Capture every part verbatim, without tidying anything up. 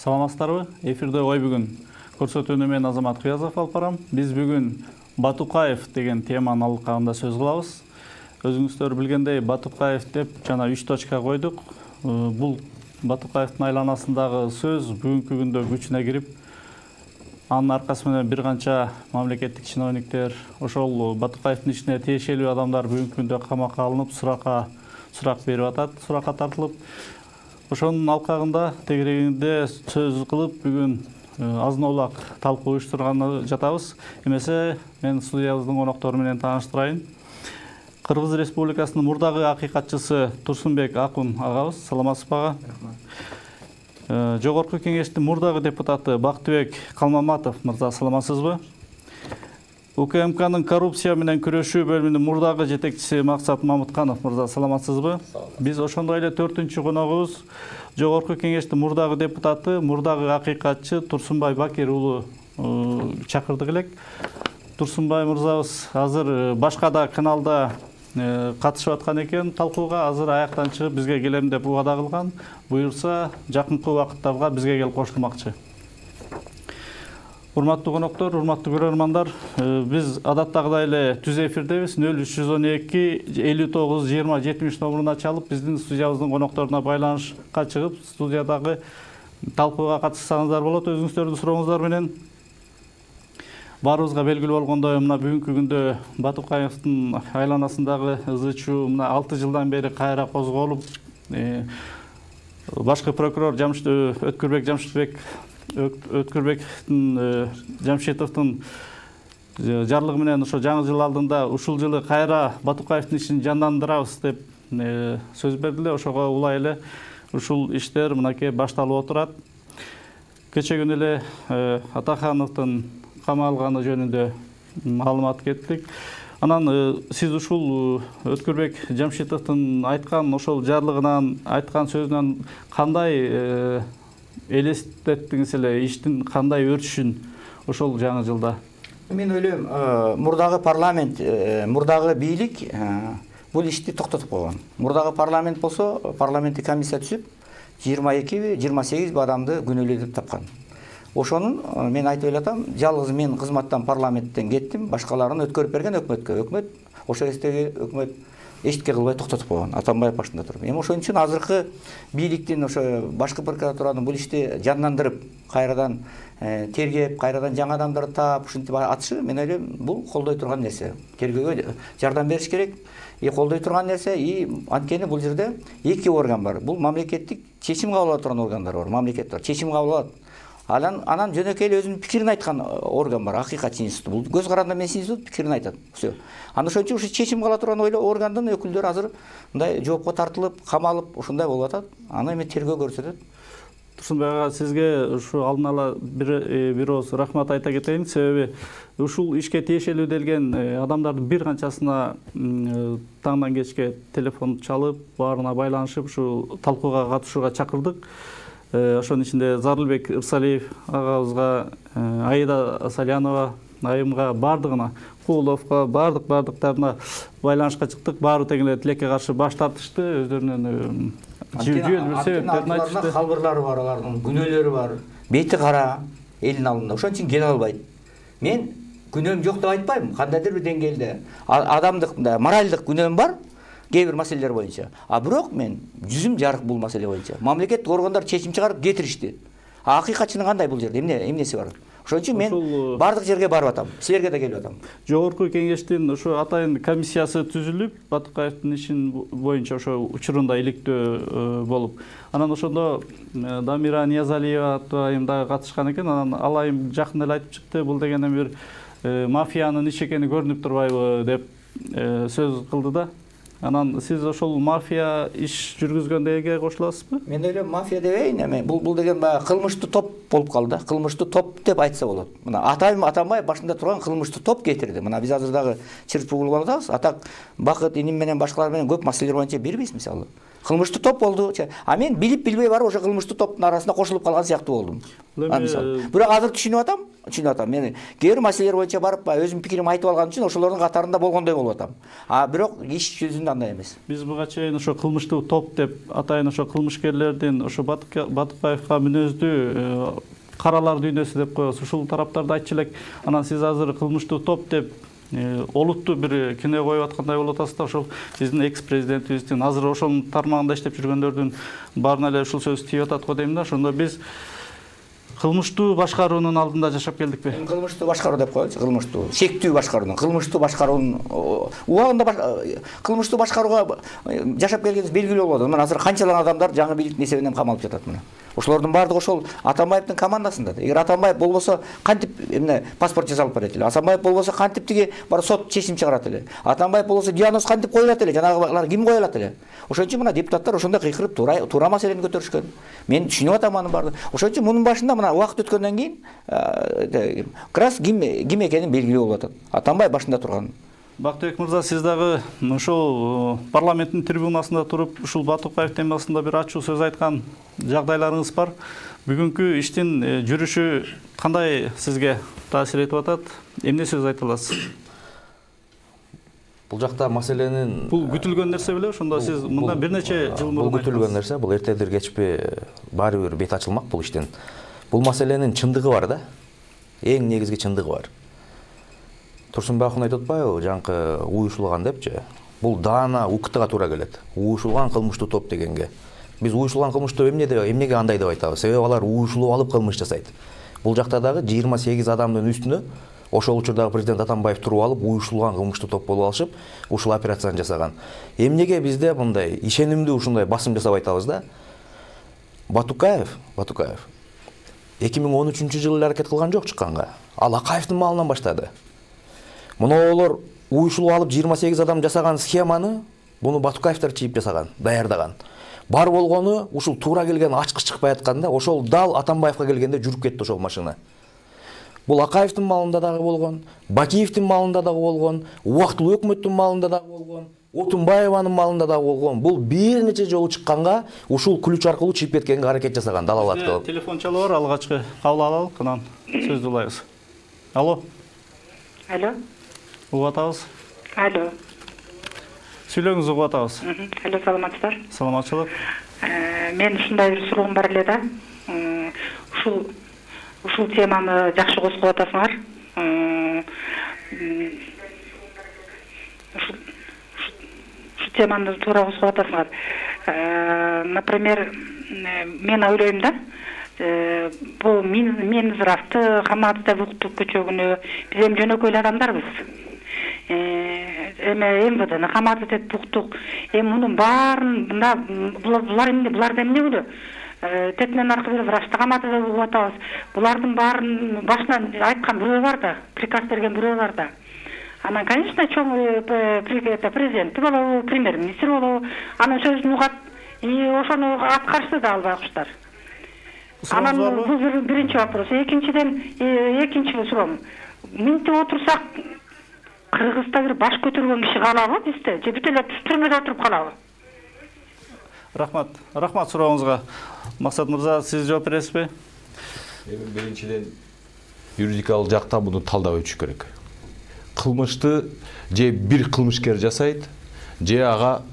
Саламатсыздарбы? Эфирде ой бүгүн көрсөтүүнү мен Азамат Кыязов алып барам. Биз бүгүн Батукаев деген теманын алкагында сөз кылабыз. Өзүңүздөр билгендей, Батукаев деп жана үч точка койдук. Бул Батукаевдин айланасындагы сөз бүгүнкү күндө күчүнө кирип, анын аркасы менен бир канча мамлекеттик чиновниктер, ошол Батукаевдин ишине тиешелүү адамдар бүгүнкү күндө камакка алынып, суракка сурак берип атат, суракка тартылып. Ошонун алкагында тегерегинде сөз кылып, бүгүн азын-аулак талкуу уюштурганы жатабыз. Эмесе мен студиябыздын коноктору менен тааныштырайын. Кыргыз Республикасынын мурдагы акыйкатчысы Турсунбек Акун агабыз, саламатсызбы ага? Жогорку кеңештин мурдагы депутаты Бактыбек Калмаматов мырза, саламатсызбы? УКМКнын коррупция менен күрөшүү бөлүмүнүн мурдагы жетекчиси Максат Мамытканов мырза, саламатсызбы? Биз ошондой эле төртүнчү коногубуз Жогорку кеңештин мурдагы депутаты, мурдагы акыйкатчы Турсунбай Бакир уулу чакырдык элек. Турсунбай мырзабыз азыр башка да каналда катышып аткан экен талкууга, азыр аяктан чыгып бизге келем деп убада кылган. Буюрса, жакынкы убакыттарга бизге келип кошулмакчы. Урматтуу коноктор, урматтуу көрөрмандар, биз адаттагыдай эле түз эфирдебиз. нөл үч жүз он эки элүү тогуз жыйырма жетимиш номуруна чалып, биздин студиябыздын конокторуна байланышка чыгып, студиядагы талкууга катышсаңыздар болот. Өзүңүздөрдүн сурооңуздар менен. Баарыбызга белгилүү болгондой, мына бүгүнкү күндө Батукаевдин айланасындагы ызы чуу мына алты жылдан бери кайра козголуп, башкы прокурор Өткүрбек Жамшитбек Өткүрбектин Жамшитовдун жарлыгы менен ошо жаңы жыл алдында ушул жылы кайра Батукаевдин ишин жандандырабыз деп сөз бердиле. Ошого улай эле ушул иштер мынакей башталып отурат. Кече күнү эле Атахановдун камалганы жөнүндө маалымат кеттик. Анан сиз ушул Өткүрбек Жамшитовдун айткан ошол жарлыгынан, айткан сөзүнөн кандай элестеттиңиз эле, иштин кандай өрчүшүн ошол жаңы жылда? Мен ойлойм, мурдагы парламент, мурдагы бийлик бул ишти токтотуп койгон. Мурдагы парламент болсо, парламенттик комиссия түзүп, жыйырма экиби, жыйырма сегизби адамды күнөөлүү деп тапкан. Ошонун мен айтып элатам, жалгыз мен кызматтан парламенттен кеттим, башкаларын өткөрүп берген өкмөткө. Өкмөт ошол кездеги өкмөт эчтеке кылбай токтотуп койгон, Атамбаев башында туруп. Эми ошон үчүн азыркы бийликтин ошо башкы прокуратуранын бул ишти жандандырып, кайрадан тергеп, кайрадан жаңы адамдарды таап, ушинтип атышы, мен ойлойм, бул колдой турган нерсе. Тергөөгө жардам бериш керек, и колдой турган нерсе, и анткени бул жерде эки орган бар. Бул мамлекеттик чечим кабыл алып турган органдар бар, мамлекет бар, чечим кабыл алат. Анан анан жөнөкөй эле өзүнүн пикирин айткан орган бар, акыйкатчы институт. Бул көз каранды эмес институт, пикирин айтат. Всё. Анан ошон үчүн ушу чечим кыла турган ойлоо органдын өкүлдөрү азыр мындай жоопко тартылып, камалып, ушундай болуп атат. Аны эми тергөө көрсөтөт. Турсунбай ага, сизге ушу алдын ала бир бир ооз рахмат айта кетейин. Себеби ушул ишке тиешелүү делген адамдардын бир канчасына таңдан кечке телефон чалып, баарына байланышып, ушу талкууга катышууга чакырдык. Ошонун ичинде Зарылбек Ырсалиев агабызга, Аида Салянова айымга, бардыгына, Кууловго, бардык бардыктарына байланышка чыктык. Баары тең эле тилекке каршы баш тартышты, өздөрүнүн жүйөлүү бир себептерин айтышты. Калбырлары бар, алардын күнөөлөрү бар. Бети кара элдин алдында. Ошон үчүн келе албайт. Мен күнөөм жок деп айтпайм, кандайдыр бир деңгээлде адамдык, моралдык күнөөм бар. Кээ бир маселелер боюнча. А бирок мен жүзүм жарык бул маселе боюнча. Мамлекеттик органдар чечим чыгарып кетиришти. А акыйкатчынын кандай бул жерде? Эмне эмнеси бар? Ошон үчүн мен бардык жерге барып атам. Силерге да келип атам. Жогорку кеңештин ошо атайын комиссиясы түзүлүп, Батукаевдин ишин боюнча ошо учурунда иликтөө болуп. Анан ошондо Дамира Ниязалиева атайым дагы катышкан экен. Анан ал айым жакын эле айтып чыкты, бул дегенде бир мафиянын иши экени көрүнүп турбайбы деп сөз кылды да. Анан сиз ошол мафия иш жүргүзгөндөргө кошуласызбы? Мен ойлойм, мафия дебейин, эми бул бул деген баягы кылмыштуу топ болуп калды да. Кылмыштуу топ деп айтса болот. Мына Атайым Атамбаев башында турган кылмыштуу топ кетирди. Мына биз азыр дагы чырчып угулуп атабыз. Атак Бакыт иним менен башкалар менен көп маселелер боюнча бербейбиз мисалы. Кылмыштуу топ болду. А мен билип билбей барып ошо кылмыштуу топтун арасында кошулуп калган сыяктуу болдум. Бирок азыр түшүнүп атам, түшүнүп атам. Мен кээ бир маселелер боюнча барып өзүмдүн пикиримди айтып алган үчүн ошолордун катарында болгондой болуп атам. А бирок иш жүзүндө андай эмес. Биз буга чейин ошо кылмыштуу топ деп атайын ошо кылмышкерлердин ошо Батукаевка мүнөздүү каралар дүйнөсү деп коебуз. Ушул тараптарды айтчу элек. Анан сиз азыр кылмыштуу топ деп олуттуу бир кино коюп аткандай болуп атасыз да. Ошол биздин экс-президентибиздин азыр ошонун тармагында иштеп жүргөндөрдүн баарына эле ушул сөз тийип атат го дейм да. Ошондо биз кылмыштуу башкаруунун алдында жашап келдикпи? Кылмыштуу башкаруу деп коелучу, кылмыштуу, шектүү башкаруунун, кылмыштуу башкаруунун убагында кылмыштуу башкарууга жашап келгенибиз белгилүү болду. Мына азыр канчалык адамдар жаңы бийликтин эсебинен камалып жатат мына. Ошолордун баардыгы ошол Атамбаевдин командасында. Эгер Атамбаев болбосо кантип эмне паспорт жасалып берет эле? Атамбаев болбосо кантип тиги бар сот чечим чыгарат эле? Атамбаев болбосо диагноз кантип коюлат эле? Жанагылар ким кое алат эле? Ошон үчүн мына депутаттар ошондой кыйкырып туура туура маселени көтөрүшкөн. Мен түшүнүп атам анын баардыгын. Ошон үчүн мунун башында мына убакыт өткөндөн кийин как раз ким ким экени белгилүү болуп атат. Атамбаев башында турган. Бактыбек мырза, сиз дагы ошол парламенттин трибунасында туруп ушул Батукаев темасында бир ачуу сөз айткан жагдайларыңыз бар. Бүгүнкү иштин жүрүшү кандай сизге таасир этип атат? Эмне сөз айта аласыз? Бул жакта маселенин бул күтүлгөн нерсе беле? Ошондо сиз мындан бир нече жыл мурун бул күтүлгөн нерсе, бул эртедир кечпи баары бир бет ачылмак бул иштин. Бул маселенин чындыгы бар да. Эң негизги чындыгы бар. Турсунбай акун айтып атпайбы, жаңкы уюшулган депчи. Бул даана УКТга туура келет. Уюшулган кылмыштуу топ дегенге. Биз уюшулган кылмыштуу эмне деп, эмнеге андай деп айтабыз? Себеби алар уюшулуп алып кылмыш жасайт. Бул жакта дагы жыйырма сегиз адамдын үстүнө ошол учурдагы президент Атамбаев туруп алып, уюшулган кылмыштуу топ болуп алышып, ушул операцияны жасаган. Эмнеге бизде мындай ишенимдүү ушундай басым жасап айтабыз да? Батукаев, Батукаев эки миң он үчүнчү жылы эле аракет кылган жок чыкканга. Ал Акаевдин малынан баштады. Мунулар уюшулуп алып жыйырма сегиз адам жасаган схеманы буну Батукаевдер чийип жасаган, даярдаган. Бар болгону ушул туура келген ачкыч чыкпай атканда, ошол дал Атамбаевка келгенде жүрүп кетти ошол машина. Бул Акаевдин малында дагы болгон, Бакиевдин малында дагы болгон, убактылуу өкмөттүн малында дагы болгон, Отунбаеванын малында дагы болгон. Бул бир нече жолу чыкканга ушул ключ аркылуу чийип кеткенге аракет жасаган, далалат кылып. Телефон чалып бар, алгачкы кабыл алалык, анан сөздү улайбыз. Алло. Алло. Угуп атабыз. Алло. Сүйлөңүз, угуп атабыз. Алло, саламатсыздар. Саламатчылык. Мен ушундай бир суроом бар эле да. Ушул ушул теманы жакшы козгоп атасыңар. Ушул теманы туура козгоп атасыңар. Например, мен ойлойм да, бул Минздравды, Хаматовду уктуп көчөгүнү биз эми жөнөкөй адамдарбыз. Эме МВДны Хаматов деп уктук. Эми мунун баарын булар эмне, буларда эмне болду? Тетмен аркылуу врачты Хаматов деп угуп атабыз. Булардын баарын башынан айткан бирөө бар да, приказ берген бирөө бар да. Анан, конечно, чоң президенти болобу, премьер-министр болобу, анын сөзүн угат, и ошону аткарышты да албай куштар. Анан бул биринчи вопрос. Экинчиден, экинчи суроом. Минтип отурсак, Кыргызда бир баш көтөргөн киши калабы бизде? Же бүт эле түрмөдө отуруп калабы? Рахмат. Рахмат сурооңузга. Максат мырза, сиз жооп бересизби? Эми биринчиден юридикалык жакта муну талдап өтүш керек. Кылмышты же бир кылмышкер жасайт, же ага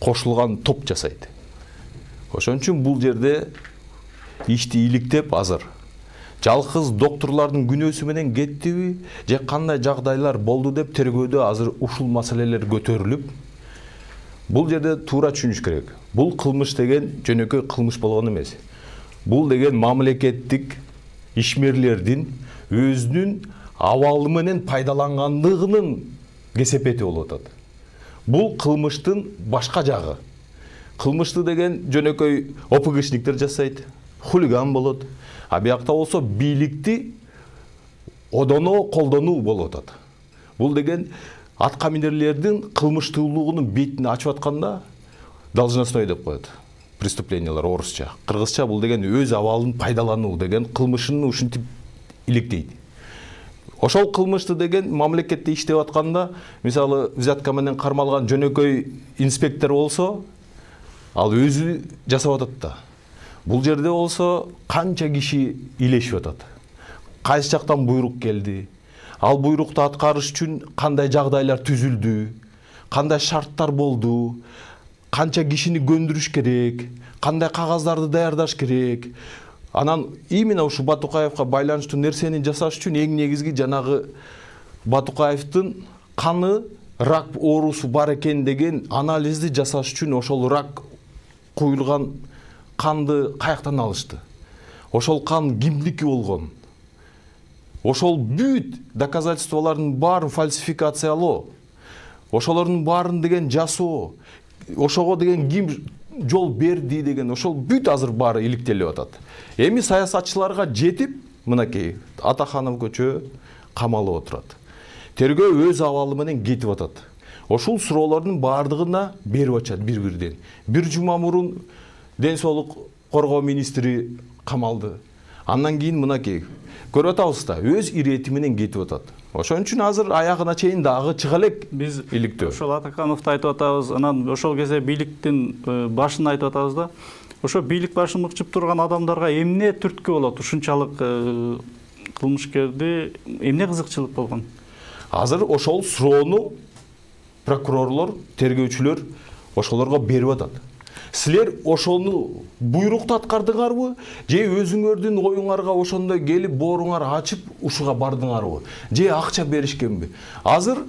кошулган топ жасайт. Ошон үчүн бул жерде ишти иликтеп азыр жалгыз докторлордун күнөөсү менен кеттиби, же кандай жагдайлар болду деп тергөөдө азыр ушул маселелер көтөрүлүп, бул жерде туура түшүнүш керек. Бул кылмыш деген жөнөкөй кылмыш болгон эмес. Бул деген мамлекеттик ишмерлердин өзүнүн абалы менен пайдалангандыгынын кесепети болуп атат. Бул кылмыштын башка жагы. Кылмышты деген жөнөкөй ОПГшниктер жасайт, хулиган болот. А биякта болсо бийликти одоно колдонуу болуп атат. Бул деген атка минерлердин кылмыштуулугунун бетин ачып атканда должностной деп коет. Преступлениялар орусча. Кыргызча бул деген өз абалын пайдалануу деген кылмышын ушинтип иликтейт. Ошол кылмышты деген мамлекетте иштеп атканда, мисалы, взятка менен кармалган жөнөкөй инспектор болсо, ал өзү жасап атат да. Бул жерде болсо канча киши илешип атат. Кайсы жактан буйрук келди? Ал буйрукту аткарыш үчүн кандай жагдайлар түзүлдү? Кандай шарттар болду? Канча кишини көндүрүш керек? Кандай кагаздарды даярдаш керек? Анан именно ушу Батукаевга байланыштуу нерсени жасаш үчүн эң негизги жанагы Батукаевдин каны рак оорусу бар экен деген анализди жасаш үчүн ошол рак куюлган канды каяктан алышты? Ошол кан кимдики болгон? Ошол бүт доказательстволордун баарын фальсификациялоо, ошолордун баарын деген жасоо, ошого деген ким жол берди деген ошол бүт азыр баары иликтелип атат. Эми саясатчыларга жетип, мынакей Атаханов көчө камалып отурат. Тергөө өз абалы менен кетип атат. Ошол суроолордун баардыгына берип атышат бир-бирден. Бир жума мурун ден соолук коргоо министри камалды. Андан кийин мынакей көрүп атабыз да, өз ирети менен кетип атат. Ошон үчүн азыр аягына чейин дагы чыга элек биз иликтөө. Ошол Атакановду айтып атабыз, анан ошол кезде бийликтин башын айтып атабыз да. Ошо бийлик башын мыкчып турган адамдарга эмне түрткү болот? Ушунчалык кылмышкерди эмне кызыкчылык болгон? Азыр ошол суроону прокурорлор, тергөөчүлөр ошолорго берип атат. Силер ошону буйрукту аткардыңарбы? Же өзүңөрдүн оюңарга ошондой келип бооруңар ачып ушуга бардыңарбы? Же акча беришкенби? Азыр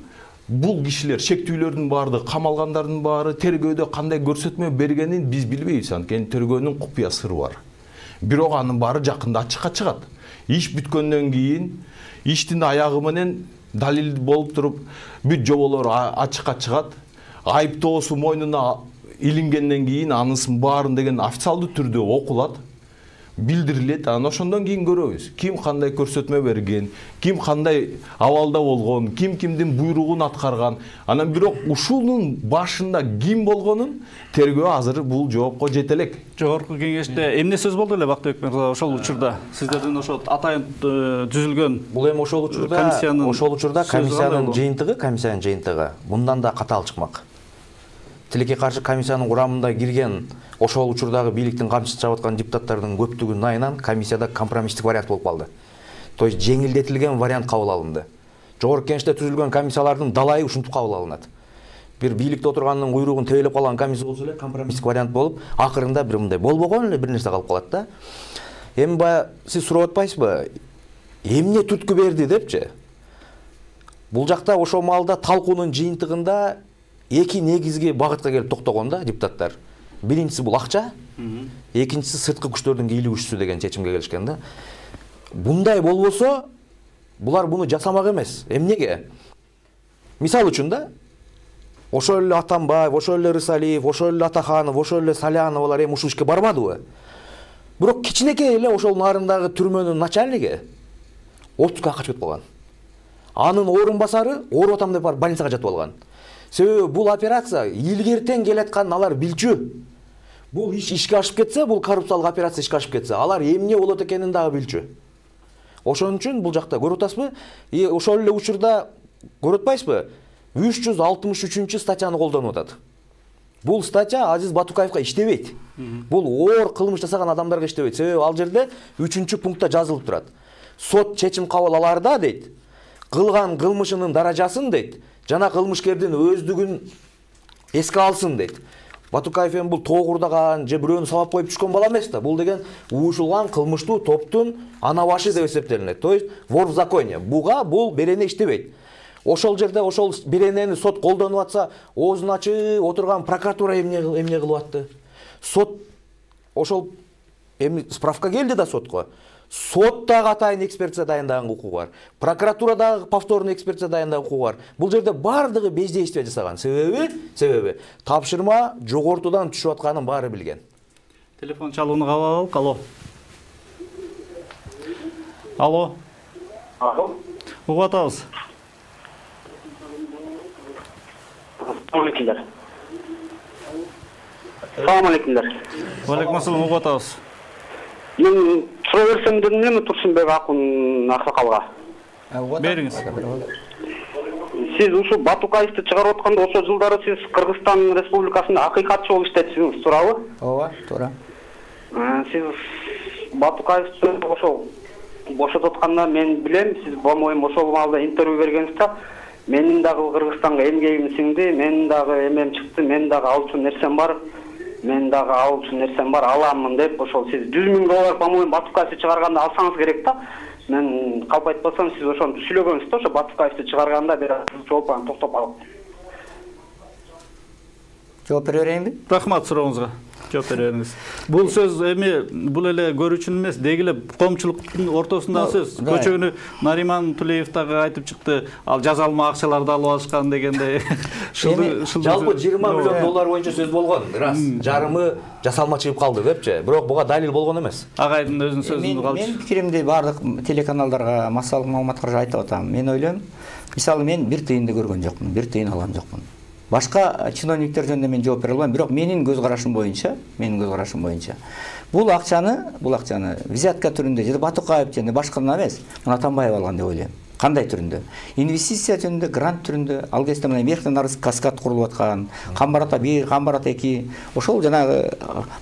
бул кишилер, шектүүлөрдүн баардыгы, камалгандардын баары тергөөдө кандай көрсөтмө бергенин биз билбейбиз. Анткени тергөөнүн купуя сыры бар. Бирок анын баары жакында ачыкка чыгат. Иш бүткөндөн кийин иштин аягы менен далил болуп туруп бүт жоболор ачыкка чыгат. Айыптоосу мойнуна илингенден кийин анысынын баарын деген официалдуу түрдө окулат, билдирилет. Анан ошондон кийин көрөбүз. Ким кандай көрсөтмө берген, ким кандай абалда болгон, ким кимдин буйругун аткарган. Анан бирок ушунун башында ким болгонун тергөө азыр бул жоопко жете элек. Жогорку кеңеште эмне сөз болду эле Бактыбек мырза ошол учурда? Сиздердин ошол атайын түзүлгөн бул эми ошол учурда ошол учурда комиссиянын жыйынтыгы, комиссиянын жыйынтыгы мындан да катаал чыкмак. Тилекке каршы комиссиянын курамында кирген ошол учурдагы бийликтин камчысын чабып аткан депутаттардын көптүгүнүн айынан комиссияда компромисстик вариант болуп калды. То есть жеңилдетилген вариант кабыл алынды. Жогорку кеңеште түзүлгөн комиссиялардын далайы ушинтип кабыл алынат. Бир бийликте отурганын куйругун тебелеп калган комиссия болсо эле компромисстик вариант болуп, акырында бир мындай болбогон эле бир нерсе калып калат да. Эми баягы сиз сурап атпайсызбы? Эмне түрткү берди депчи? Бул жакта ошол маалда талкуунун жыйынтыгында эки негизги багытка келип токтогон да депутаттар. Биринчиси бул акча, экинчиси сырткы күчтөрдүн кийлүү күчсү деген чечимге келишкен да. Бундай болбосо, булар буну жасамак эмес. Эмнеге? Мисал үчүн да, ошол эле Атамбаев, ошол эле Рысалиев, ошол эле Атаханов, ошол эле Саляновалар эми ушул ишке бармадыбы? Бирок кичинекей эле ошол нарындагы түрмөнүн начальниги отпускка качып кетип калган. Анын орун басары ооруп атам деп барып больницага жатып алган. Себеби бул операция илгертен келатканын алар билчү. Бул иш ишке ашып кетсе, бул коррупциялык операция ишке ашып кетсе, алар эмне болот экенин дагы билчү. Ошон үчүн бул жакта көрүп атасызбы? И ошол эле учурда көрүп атпайсызбы? үч жүз алтымыш үчүнчү статьяны колдонуп атат. Бул статья Азиз Батукаевга иштебейт. Бул оор кылмыш жасаган адамдарга иштебейт. Себеби ал жерде үчүнчү пунктта жазылып турат. Сот чечим кабыл аларда дейт, кылган кылмышынын даражасын дейт, жана кылмышкердин өздүгүн эске алсын дейт. Батукаев эми бул тоогурдаган же бирөөнү сабап коюп түшкөн бала эмес да. Бул деген уюшулган кылмыштуу топтун ана башы деп эсептелинет. То есть вор в законе. Буга бул берене иштебейт. Ошол жерде ошол беренени сот колдонуп атса, оозун ачып отурган прокуратура эмне эмне кылып атты? Сот ошол эми справка келди да сотко. Сот дагы атайын экспертиза дайындаган укугу бар. Прокуратура дагы повторный экспертиза дайындаган укугу бар. Бул жерде бардыгы бездействие жасаган. Себеби, себеби тапшырма жогортудан түшүп атканын баары билген. Телефон чалууну кабыл алып, алло. Алло. Алло. Угуп атабыз. Салам алейкумдар. Салам алейкумдар. Валейкум ассалам, угуп атабыз. Мен суроо берсем дедим эми Турсунбек акын аксакалга. Бериңиз. Сиз ушу Батукаевди чыгарып атканда ошол жылдары сиз Кыргызстан Республикасында акыйкатчы болуп иштетсиңиз, туурабы? Ооба, туура. Сиз Батукаевди ошол бошотуп атканда мен билем, сиз по-моему ошол маалда интервью бергенсиз да. Менин дагы Кыргызстанга эмгегим сиңди, менин дагы эмем чыкты, мен дагы ал үчүн нерсем бар. Мен дагы ал үчүн нерсем бар, аламын деп ошол сиз жүз миң доллар по-моему Батукаевди чыгарганда алсаңыз керек да. Мен калп айтпасам сиз ошону сүйлөгөнсүз да, ошо Батукаевди чыгарганда бир жооп анан токтоп алып. Жооп бере берейинби? Рахмат сурооңузга. Жооп бере бериңиз. Бул сөз эми бул эле көрүүчүнүн эмес, деги эле коомчулуктун ортосундагы сөз. Көчөгүнү Нариман Тулеев дагы айтып чыкты. Ал жазалма акчаларды алып алышкан дегенде. Жалпы жыйырма миллион доллар боюнча сөз болгон. Рас. Жарымы жасалма чыгып калды депчи. Бирок буга далил болгон эмес. Агайдын өзүнүн сөзүн калчу. Мен пикиримди бардык телеканалдарга, массалык маалыматтарга айтып атам. Мен ойлойм, мисалы мен бир тыйынды көргөн жокмун, бир тыйын алган жокмун. Башка чиновниктер жөнүндө мен жооп бере албайм, бирок менин көз карашым боюнча, менин көз карашым боюнча бул акчаны, бул акчаны взятка түрүндө же Батукаев же башкалар эмес, мына Атамбаев алган деп ойлойм. Кандай түрүндө? Инвестиция жөнүндө, грант түрүндө, ал кезде мына Мехтен арыз каскад курулуп аткан, Камбарата бир, Камбарата эки, ошол жанагы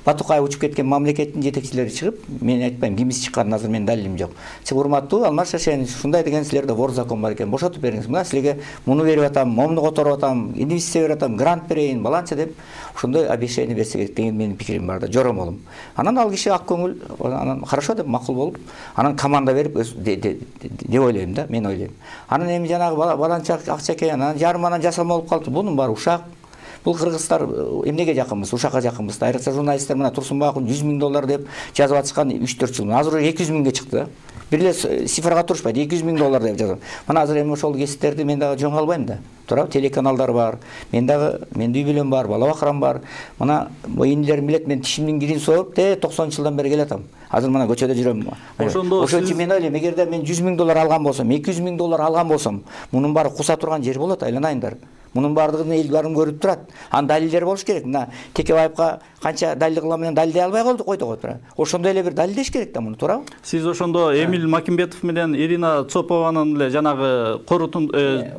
Батукаев учуп кеткен мамлекеттин жетекчилери чыгып, мен айтпайм кимиси чыкканын азыр менин далилим жок. Чыгып урматтуу Алмаз Шашенович, ушундай деген силерде вор закон бар экен, бошотуп бериңиз. Мына силерге муну берип атам, момуну которуп атам, инвестиция берип атам, грант берейин, баланча деп ошондой обещание берсе керек деген менин пикирим бар да, жоромолум. Анан ал киши ак көңүл, анан хорошо деп макул болуп, анан команда берип деп ойлойм да, мен ойлойм. Анан эми жанагы баланча акча экен, анан жарым анан жасалма болуп калды. Бунун баары ушак. Бул кыргыздар эмнеге жакынбыз, ушакка жакынбыз. Айрыкча журналисттер мына Турсунбаакун жүз миң доллар деп жазып атышкан үч төрт жыл. Азыр эки жүз миңге чыкты. Бир эле цифрага турушпайт, эки жүз миң доллар деп жазып. Мына азыр эми ошол кесиптерди мен дагы жоң албайм да. Туурабы? Телеканалдар бар. Мен дагы менде үй бүлөм бар, бала бакырам бар. Мына инилерим билет, мен тишимдин кирин сооруп, те токсонунчу жылдан бери келатам. Азыр мына көчөдө жүрөм. Ошондо ошон үчүн мен ойлойм, эгерде мен жүз миң доллар алган болсом, эки жүз миң доллар алган болсом, мунун баары куса турган жер болот, айланайындар. Мунун баардыгын эл баарын көрүп турат. Анын далилдери болуш керек. Мына Текебаевка канча далил кылам менен далилдей албай калдык койдук отура. Ошондой эле бир далилдеш керек да муну, туурабы? Сиз ошондо Эмиль Макимбетов менен Ирина Цопованын эле жанагы корутун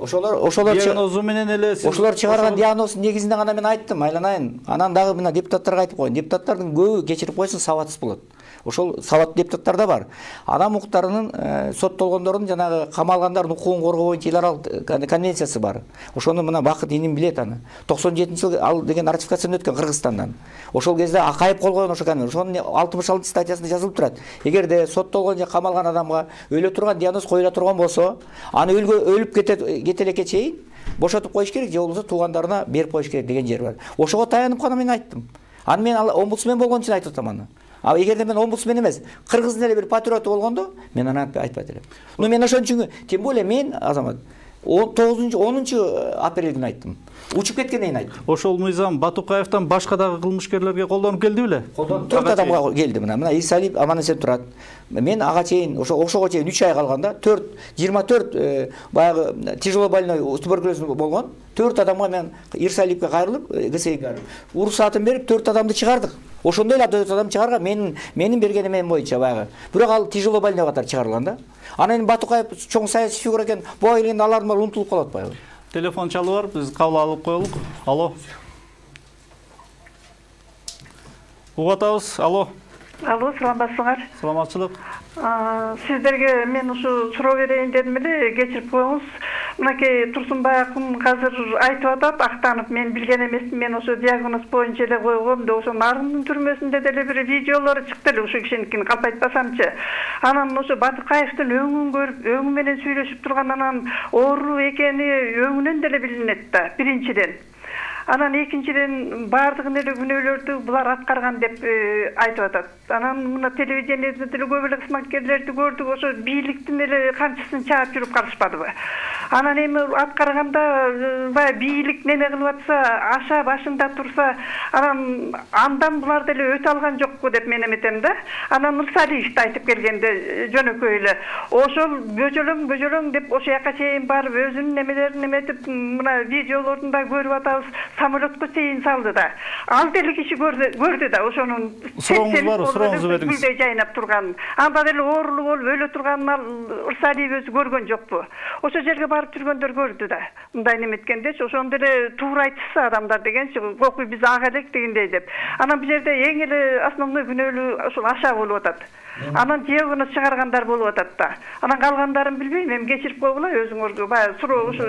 ошолор ошолор диагнозу менен эле ошолор чыгарган диагноздун негизинде гана мен айттым, айланайын. Анан дагы мына депутаттарга айтып коеюн. Депутаттардын көбү кечирип койсун сабатсыз болот. Ошол сабаттуу депутаттар да бар. Адам укуктарынын соттолгондордун жанагы камалгандардын укугун коргоо боюнча эл аралык конвенциясы бар. Ошону мына Бакыт иним билет аны. токсон жетинчи жылы ал деген ратификациядан өткөн Кыргызстандан. Ошол кезде Акаев кол койгон ошо конвенция. Ошонун алтымыш алтынчы статьясында жазылып турат. Эгерде соттолгон же камалган адамга өлө турган диагноз коюла турган болсо, аны өлүп кете кетелекке чейин бошотуп коюш керек же болбосо туугандарына берип коюш керек деген жер бар. Ошого таянып гана мен айттым. Аны мен омбудсмен болгон үчүн айтып атам аны. А эгерде мен омбудсмен эмес, кыргыздын эле бир патриоту болгондо, мен аны айтпайт элем. Ну мен ошон үчүн, тем более мен Азамат он тогузунчу онунчу апрель күнү айттым. Учуп кеткенден кийин айттым. Ошол мыйзам Батукаевтан башка дагы кылмышкерлерге колдонуп келди беле? Колдонуп төрт адамга келди мына. Мына Ирсалиев аман эсен турат. Мен ага чейин ошо ошого чейин үч ай калганда төрт жыйырма төрт баягы тяжело больной туберкулез болгон төрт адамга мен Ирсалиевке кайрылып, ГСИге уруксатын берип төрт адамды чыгардык. Ошондой эле төрт адам чыгарган менин менин бергеним мен боюнча баягы. Бирок ал тяжело больной катары чыгарылган да. Анан Батукаев чоң саясий фигура экен, буга келгенде алардын баары унутулуп калат баягы. Телефон чалуу бар, биз кабыл алып коелук. Алло. Угуп атабыз. Алло. Алло, саламатсыңар? Саламатчылык. Сиздерге мен ушу суроо берейин дедим эле, кечирип коюңуз. Мынакей Турсунбаевдин азыр айтып атат, актанып, мен билген эмесмин, мен ошо диагноз боюнча эле койгом деп, ошо Нарындын түрмөсүндө деле бир видеолору чыкты эле ушул кишиникин, калп айтпасамчы. Анан ошо Батукаевдин өңүн көрүп, өңү менен сүйлөшүп турган, анан оору экени өңүнөн деле билинет да, биринчиден. Анан экинчиден баардыгын эле күнөөлөрдү булар аткарган деп айтып атат. Анан мына телевидениеде деле көп эле кызматкерлерди көрдүк, ошо бийликтин эле камчысын чаап жүрүп калышпадыбы? Анан эми аткарганда баягы бийлик неме кылып атса, аша башында турса, анан андан булар деле өтө алган жокпу деп мен эметем да. Анан Нурсалиевди айтып келгенде жөнөкөй эле ошол бөжөлөң бөжөлөң деп ошо жака чейин барып өзүнүн немелерин эметип, мына видеолорун да көрүп атабыз. самолетко чейин салды да. Ал деле киши көрдү, көрдү да ошонун сурооңуз барбы? Сурооңузду бериңиз. Гүлдөй жайнап турганын. Анда деле оорулуу болуп өлө турганын ал Ырсалиев өзү көргөн жокпу? Ошо жерге барып жүргөндөр көрдү да. Мындай неметкендечи, ошондо эле туура айтышса адамдар дегенчи, кокуй биз ага элек дегендей деп. Анан бул жерде эң эле основной күнөөлүү ошол Аша болуп атат. Анан жебүнө чыгаргандар болуп атат да. Анан калгандарын билбейм, эми кечирип койгула өзүңөргө. Баягы суроо ошо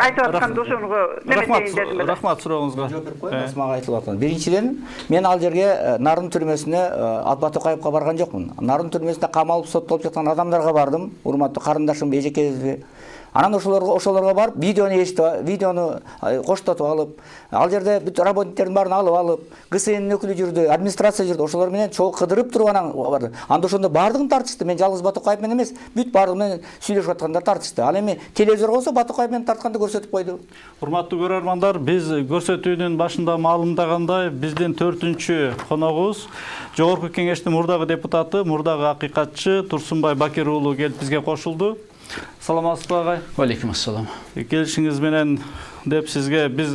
айтып атканда ошону неметейин дедим эле. Рахмат сурооңузга. Жооп берип коеюн, Асмага айтылып аткан. Биринчиден, мен ал жерге Нарын түрмөсүнө Батукаевка барган жокмун. Нарын түрмөсүндө камалып соттолуп жаткан адамдарга бардым, урматтуу карындашым, эжекебизби. Анан ошолорго ошолорго барып видеону эшитип, видеону коштотуп алып, ал жерде бүт работниктердин баарын алып алып, ГСНдин өкүлү жүрдү, администрация жүрдү, ошолор менен чогуу кыдырып туруп анан барды. Анда ошондо баардыгын тартышты. Мен жалгыз Батукаев менен эмес, бүт баардыгы менен сүйлөшүп аткандар тартышты. Ал эми телевизор болсо Батукаев менен тартканды көрсөтүп койду. Урматтуу көрөрмандар, биз көрсөтүүнүн башында маалымдагандай, биздин төртүнчү коногубуз Жогорку Кеңештин мурдагы депутаты, мурдагы акыйкатчы Турсунбай Бакир уулу келип бизге кошулду. Саламатсызбы агай? Алейкум ассалам. Келишиңиз менен деп сизге биз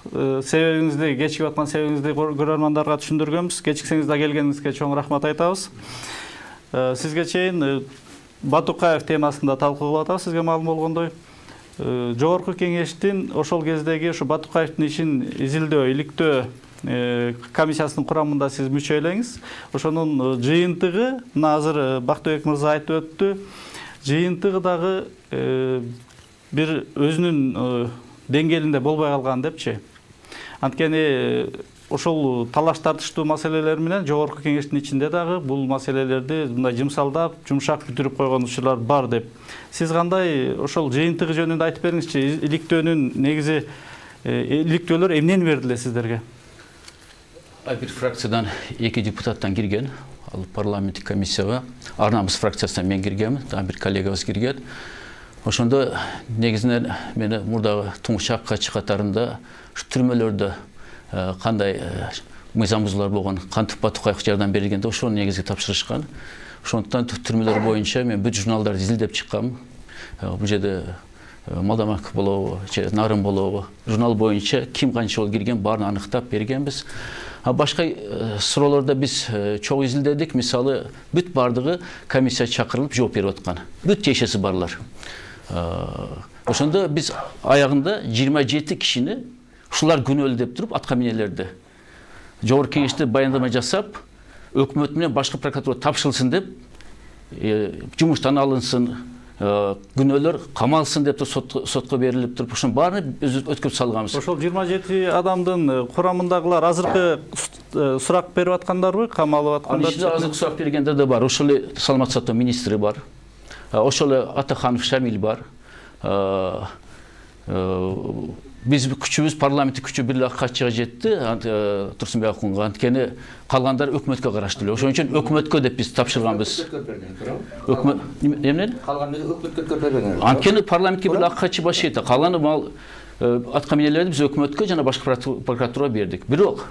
себебиңизди, кечигип аткан себебиңизди көрөрмандарга түшүндүргөнбүз. Кечиксеңиз да келгениңизге чоң рахмат айтабыз. Сизге чейин Батукаев темасында талкуу кылып атабыз, сизге маалым болгондой. Жогорку Кеңештин ошол кездеги ушу Батукаевдин ишин изилдөө, иликтөө комиссиясынын курамында сиз мүчө элеңиз. Ошонун жыйынтыгы мына азыр Бактыбек мырза айтып өттү. Жыйынтыгы дагы бир өзүнүн деңгээлинде болбой калган депчи. Анткени ошол талаш тартыштуу маселелер менен Жогорку Кеңештин ичинде дагы бул маселелерди мындай жымсалдап, жумшак бүтүрүп койгон учурлар бар деп. Сиз кандай ошол жыйынтыгы жөнүндө айтып бериңизчи. Иликтөөнүн негизи иликтөөлөр эмнени бердиле сиздерге? Бир фракциядан эки депутаттан кирген. Ал парламенттик комиссияга Арнамыз фракциясынан мен киргенмин, дагы бир коллегабыз кирген. Ошондо негизинен мени мурдагы туңгуч аккачы катарында түрмөлөрдө кандай мыйзам бузуулар болгон, кантип Батукаевга жардам берилгенде ошону негизги тапшырышкан. Ошондуктан түрмөлөр боюнча мен бүт журналдарды изилдеп чыккам. Бул жерде Молдомак болобу, Нарын болобу, журнал боюнча ким канча жолу кирген баарын аныктап бергенбиз. А башка суроолордо биз чогуу изилдедик. Мисалы, бүт баардыгы комиссия чакырылып жооп берип аткан. Бүт тиешеси барлар. Ошондо биз аягында жыйырма жети кишини ушулар күнөөлүү деп туруп атка минелерди. Жогорку Кеңеште баяндама жасап, өкмөт менен башкы прокуратура тапшырылсын деп, жумуштан алынсын, күнөөлөр камалсын деп сотко берилип туруп, ошонун баарын өткөрүп салганбыз. Ошол жыйырма жети адамдын курамындагылар азыркы сурак берип аткандарбы, камалып аткандар? Ичинде азыркы сурак бергендер да бар. Ошол эле Саламат сактоо министри бар. Ошол эле Атаханов Шамил бар. Биз күчүбүз, парламенттик күчү бир эле аккачыга жетти, Турсунбай Акунга. Анткени калгандар өкмөткө караштуу эле. Ошон үчүн өкмөткө деп биз тапшырганбыз. Өкмөт эмнен? Калганы өкмөткө берген. Анткени парламентке бир эле аккачы баш эте. Калганы мал атка минелерди биз өкмөткө жана башкы прокуратурага бердик. Бирок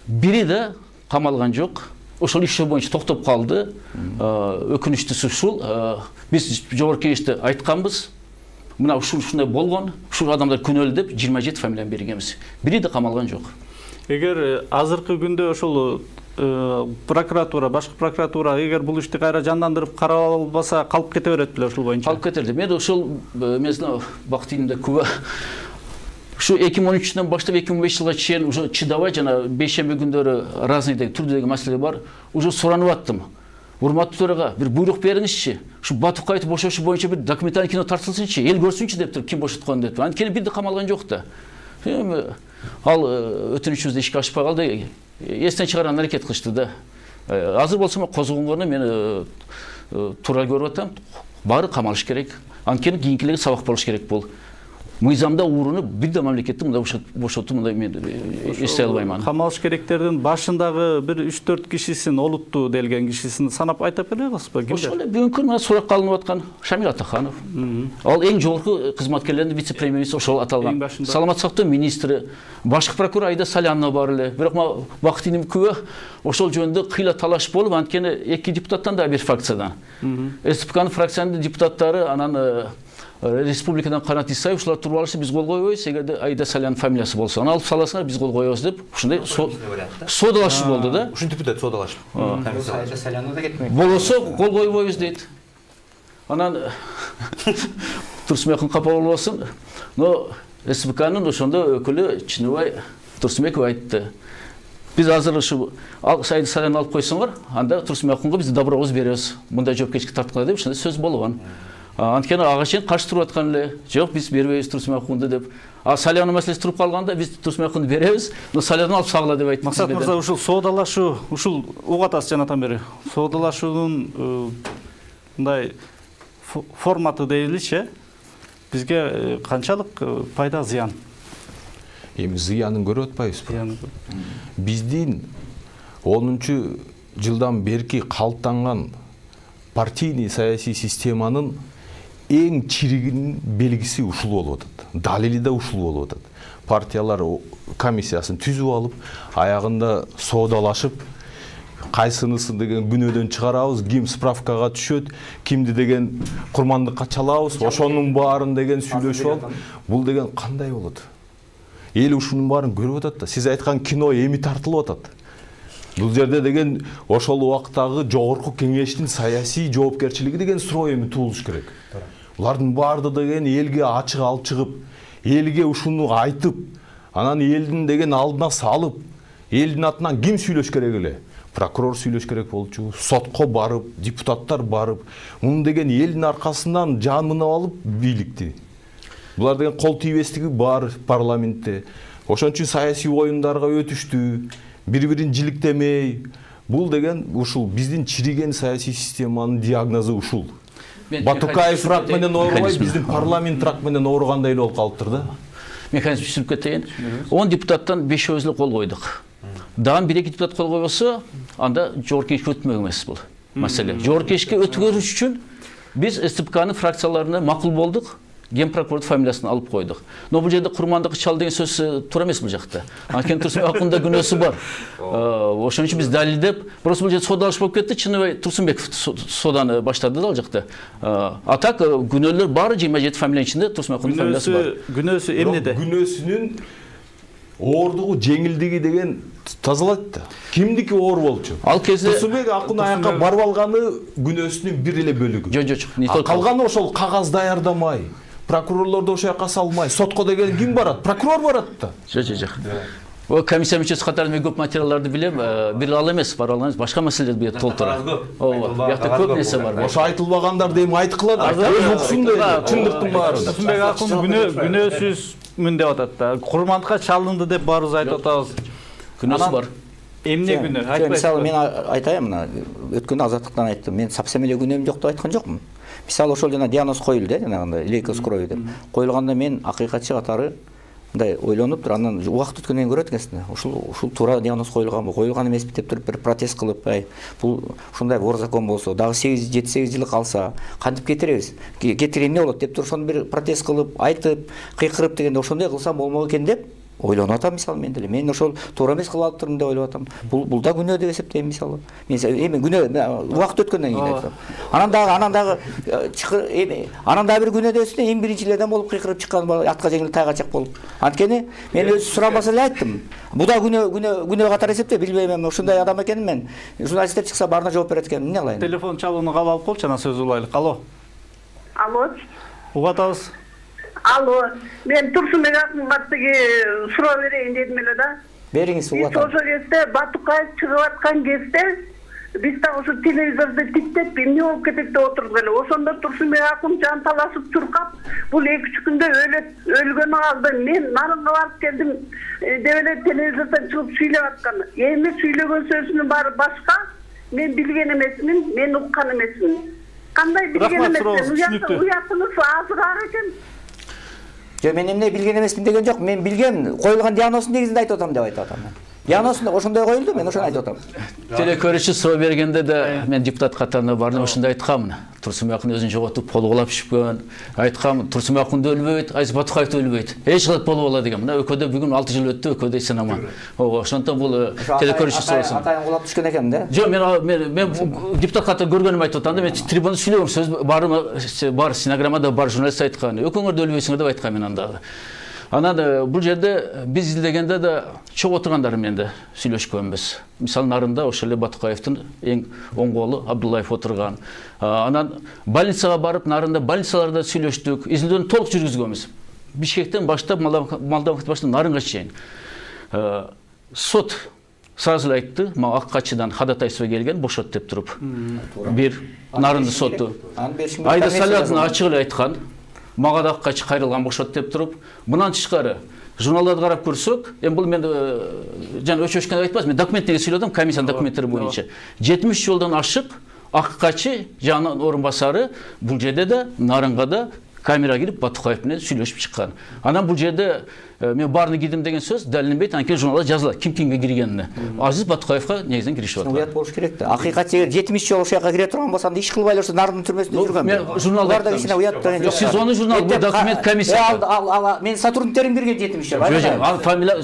бири да камалган жок. Ошол иш боюнча токтоп калды. Өкүнүчтүүсү ушул. Биз Жогорку Кеңеште айтканбыз. Мына ушундай болгон, ушул адамдар күнөөлүү деп жыйырма жети фамилияны бергенбиз. Бири да камалган жок. Эгер азыркы күндө ошол прокуратура, башкы прокуратура эгер бул ишти кайра жандандырып карап албаса, калып кете берет беле ушул боюнча? Калып кетерди. Мен ошол мезгилде бактыйымда күбө. Ушу эки миң он үчтөн баштап эки миң он беш жылга чейин уже чыдабай жана бейшемби күндөрү разный деги түрдөгү маселе бар. Уже суранып аттым. Урматтуу төрага бир буйрук бериңизчи. Ушу Батукаевди бошотуу боюнча бир документалдык кино тартылсынчы, эл көрсүнчү деп туруп, ким бошоткон деп. Анткени бир да камалган жок да. Эми ал өтүнүчүбүздү ишке ашпай калды. Эстен чыгарган аракет кылышты да. Азыр болсо козгонгону мен туура көрүп атам. Баары камалыш керек. Анткени кийинкилерге сабак болуш керек бул. Мыйзамда уурунуп бир да мамлекетти мындай бошотуу мындай мен эстей албайман. Камалыш керектердин башындагы бир үч төрт кишисин, олуттуу делген кишисин санап айтып бере аласызбы? Ошол эле бүгүнкү мына суракка алынып аткан Шамил Атаханов. Ал эң жогорку кызматкерлердин вице-премьер-министри ошол аталган. Саламат сактоо министри, башкы прокурор Айда Салянова бар эле. Бирок мына бактыйым күбө ошол жөнүндө кыйла талаш болуп, анткени эки депутаттан да бир фракциядан. СПКнын фракциянын депутаттары анан республикадан Канат Исаев ушулар туруп алышты, биз кол койбойбуз, эгерде Аида Салянын фамилиясы болсо, аны алып саласыңар, биз кол коебуз деп ушундай соодалашуу болду да. Ушинтип бүтөт соодалашып. Аида Салянга да кетмек. Болосо кол койбойбуз дейт. Анан Турсунбек капа болбосун, но СПКнын ошондо өкүлү Чыныбай Турсунбеков айтты. Биз азыр ушу Аида Саляны алып койсоңор, анда Турсунбековго биз добробуз беребиз. Мындай жоопкерчиликке тарткыла деп ошондой сөз болгон. Анткени ага чейин каршы туруп аткан эле, жок биз бербейбиз Турсунбековду деп. А Салянын маселеси туруп калганда биз Турсунбековду беребиз, но Саляны алып сагыла деп айтты. Максат мырза, ушул соодалашуу, ушул угуп атасыз жанатан бери. Соодалашуунун мындай форматы дейиличи, бизге канчалык пайда, зыян? Эми зыянын көрүп атпайбызбы? Биздин онунчу жылдан берки калыптанган партийный саясий системанын эң чиригинин белгиси ушул болуп атат. Далили да ушул болуп атат. Партиялар комиссиясын түзүп алып, аягында соодалашып, кайсынысын деген күнөөдөн чыгарабыз, ким справкага түшөт, кимди деген курмандыкка чалабыз, ошонун баарын деген сүйлөшүп алып, бул деген кандай болот? Эл ушунун баарын көрүп атат да. Сиз айткан кино эми тартылып атат. Бул жерде деген ошол убактагы жогорку кеңештин саясий жоопкерчилиги деген суроо эми туулуш керек. Булардын баарды деген элге ачык алып чыгып, элге ушуну айтып, анан элдин деген алдына салып, элдин атынан ким сүйлөш керек эле? Прокурор сүйлөш керек болчу, сотко барып, депутаттар барып, муну деген элдин аркасынан жан мынап алып бийликти. Булар деген кол тийбестиги бар парламентте. Ошон үчүн саясий оюндарга өтүштү, бири-бирин жиликтемей. Бул деген ушул биздин чириген саясий системанын диагнозу ушул. Батукаев рак менен оорубай, биздин парламент рак менен ооругандай эле болуп калыптыр да. Механизм түшүнүп кетейин. он депутаттан бешөөбүз эле кол койдук. Дагы бир эки депутат кол койбосо, анда жогорку кеңешке өтмөк эмес бул маселе. Жогорку кеңешке өткөрүш үчүн биз СТПКнын фракцияларына макул болдук. Ген прокурордун фамилиясын алып койдук. Но бул жерде курмандыкка чал деген сөз туура эмес бул жакта. Анткени Турсунбековдун да күнөөсү бар. Ошон үчүн биз далилдеп, просто бул жерде соодалаш болуп кетти. Чыныбай Турсунбеков сооданы баштады да ал жакта. А так күнөөлөр баары жыйырма жети фамилиянын ичинде Турсунбековдун фамилиясы бар. Күнөөсү эмнеде? Күнөөсүнүн оордугу, жеңилдиги деген тазалайт да. Кимдики оор болчу? Ал кезде Турсунбек акын аякка барып алганы күнөөсүнүн бир эле бөлүгү. Жок, жок. Калганы ошол кагаз даярдамай, прокурорлорду ошол жака салмай, сотко деген ким барат? Прокурор барат да. Жок, жок, жок. О, комиссия мүчөсү катарында мен көп материалдарды билем, бир ал эмес, бар ал эмес, башка маселелерди билет толтура. Ооба, бuyakta көп нерсе бар. Ошо айтылбагандар дейм айткыла да. Өз уксун дейт, чындыктын баарын. Турсунбек акын күнөөсүзмүн деп атат да. Курмандыкка чалынды деп баарыбыз айтып атабыз. Күнөөсү бар. Эмне күнөө? Айтпайсыз. Мисалы мен айтайын, мына өткөн азаттыктан айттым. Мен совсем эле күнөөм жок деп айткан жокмун. Мисалы ошол жана диагноз коюлду, жанагындай лейкоз крови деп. Коюлганда мен акыйкатчы катары мындай ойлонуп туруп, анан убакыт өткөндөн кийин көрөт экенсиң. Ушул ушул туура диагноз коюлганбы, коюлган эмеспи деп туруп бир протест кылып, ай, бул ушундай бор закон болсо, дагы сегиз жети сегиз жыл калса, кантип кетиребиз? Кетире эмне болот деп туруп, ошону бир протест кылып, айтып, кыйкырып дегенде ошондой кылсам болмок экен деп ойлонуп атам мисалы мен деле. Мен ошол туура эмес кылып алыптырмын деп ойлоп атам. Бул бул да күнөө деп эсептейм мисалы. Мен эми күнөө убакыт өткөндөн кийин айтам. Анан дагы анан дагы эми анан дагы бир күнөө деп эсептейм. Эң биринчи эле адам болуп кыйкырып чыккан, атка жеңил тайга чак болуп. Анткени мен өзү сурамаса эле айттым. Бул да күнөө күнөө күнөө катары эсептейм. Билбейм, эми ушундай адам экенин мен. Журналисттер чыкса баарына жооп берет экенмин. Эмне кылайын? Телефон чалууну кабыл алып болчу, анан сөз улайлык. Алло. Алло. Угуп атабыз. Алло, мен Турсунбек акынга тиги суроо берейин дедим эле да. Бериңиз, угуп атам. Ошол кезде Батукаев чыгып аткан кезде биз да ошо телевизорду тиктеп эмне болуп кетет деп отурдук эле. Ошондо Турсунбек акын жанталашып чуркап, бул эки үч күндө өлөт өлгөнү алды. Мен нарынга барып келдим деп эле телевизордон чыгып сүйлөп аткан. Эми сүйлөгөн сөзүнүн баары башка. Мен билген эмесмин, мен уккан эмесмин. Кандай билген эмесмин? Уятыңыз азыраак экен. Жок, мен эмне билген эмесмин деген жок. Мен билгем, коюлган диагноздун негизинде айтып атам деп айтып атам. Диагноз ошондой коюлду, мен ошону айтып атам. Телекөрүүчү суроо бергенде да мен депутат катарына бардым, ошондой айткамын. Турсунбай өзүн жоготуп, колголап ишипкен. Айткам, Турсунбай өлбөйт, Айзат Батукаев өлбөйт. Эч кылат болуп алат деген. Мына өкөдө бүгүн алты жыл өттү, өкөдө сынама. Ого, ошондон бул телекөрүүчү суроосун. Атайын кулап түшкөн экен да. Жок, мен мен депутат катарында көргөнүм айтып атам да, мен трибунада сүйлөгөм, сөз бар бар, стенограммада бар, журналист айткан. Өкөңөр да өлбөйсүңөр деп айткам мен анда. Анан бул жерде биз изилдегенде да чогуу отургандар менен да сүйлөшкөнбүз. Мисалы нарында ошол эле Батукаевдин эң оң колу Абдуллаев отурган. Анан больницага барып, нарында больницаларда сүйлөштүк, изилдөөнү толук жүргүзгөнбүз. Бишкектен баштап, Молдовандан баштап нарынга чейин. Сот сразу эле айтты, мага ак качыдан ходатайство келген, бошот деп туруп. Бир нарынды соту. Айда Салиатын ачык эле айткан. Мага да качы кайрылган бошот деп туруп, мындан тышкары журналдарды карап көрсөк, эми бул мен жана өчөшкөн айтпайбыз, мен документтерге сүйлөдүм, комиссиянын документтери боюнча. жетимиш жолдон ашык ак качы жана орун басары бул жерде да нарынга да камера кирип Батукаев менен сүйлөшүп чыккан. Анан бул жерде мен баарына кирдим деген сөз далилденбейт, анан журналда жазылат ким кимге киргенине. Азиз Батукаевга негизинен киришип атат. Уят болуш керек да. Акыйкат жер жетимиш жол ошол жака кире турган болсо, анда иш кылбай эле ошо нардын түрмөсүндө жүргөн. Мен журналда кичине уят деген жок. Сиз ону журнал, бул документ комиссия. Ал мен сотрудниктерим кирген жетимиш жол. Жок, ал фамилия,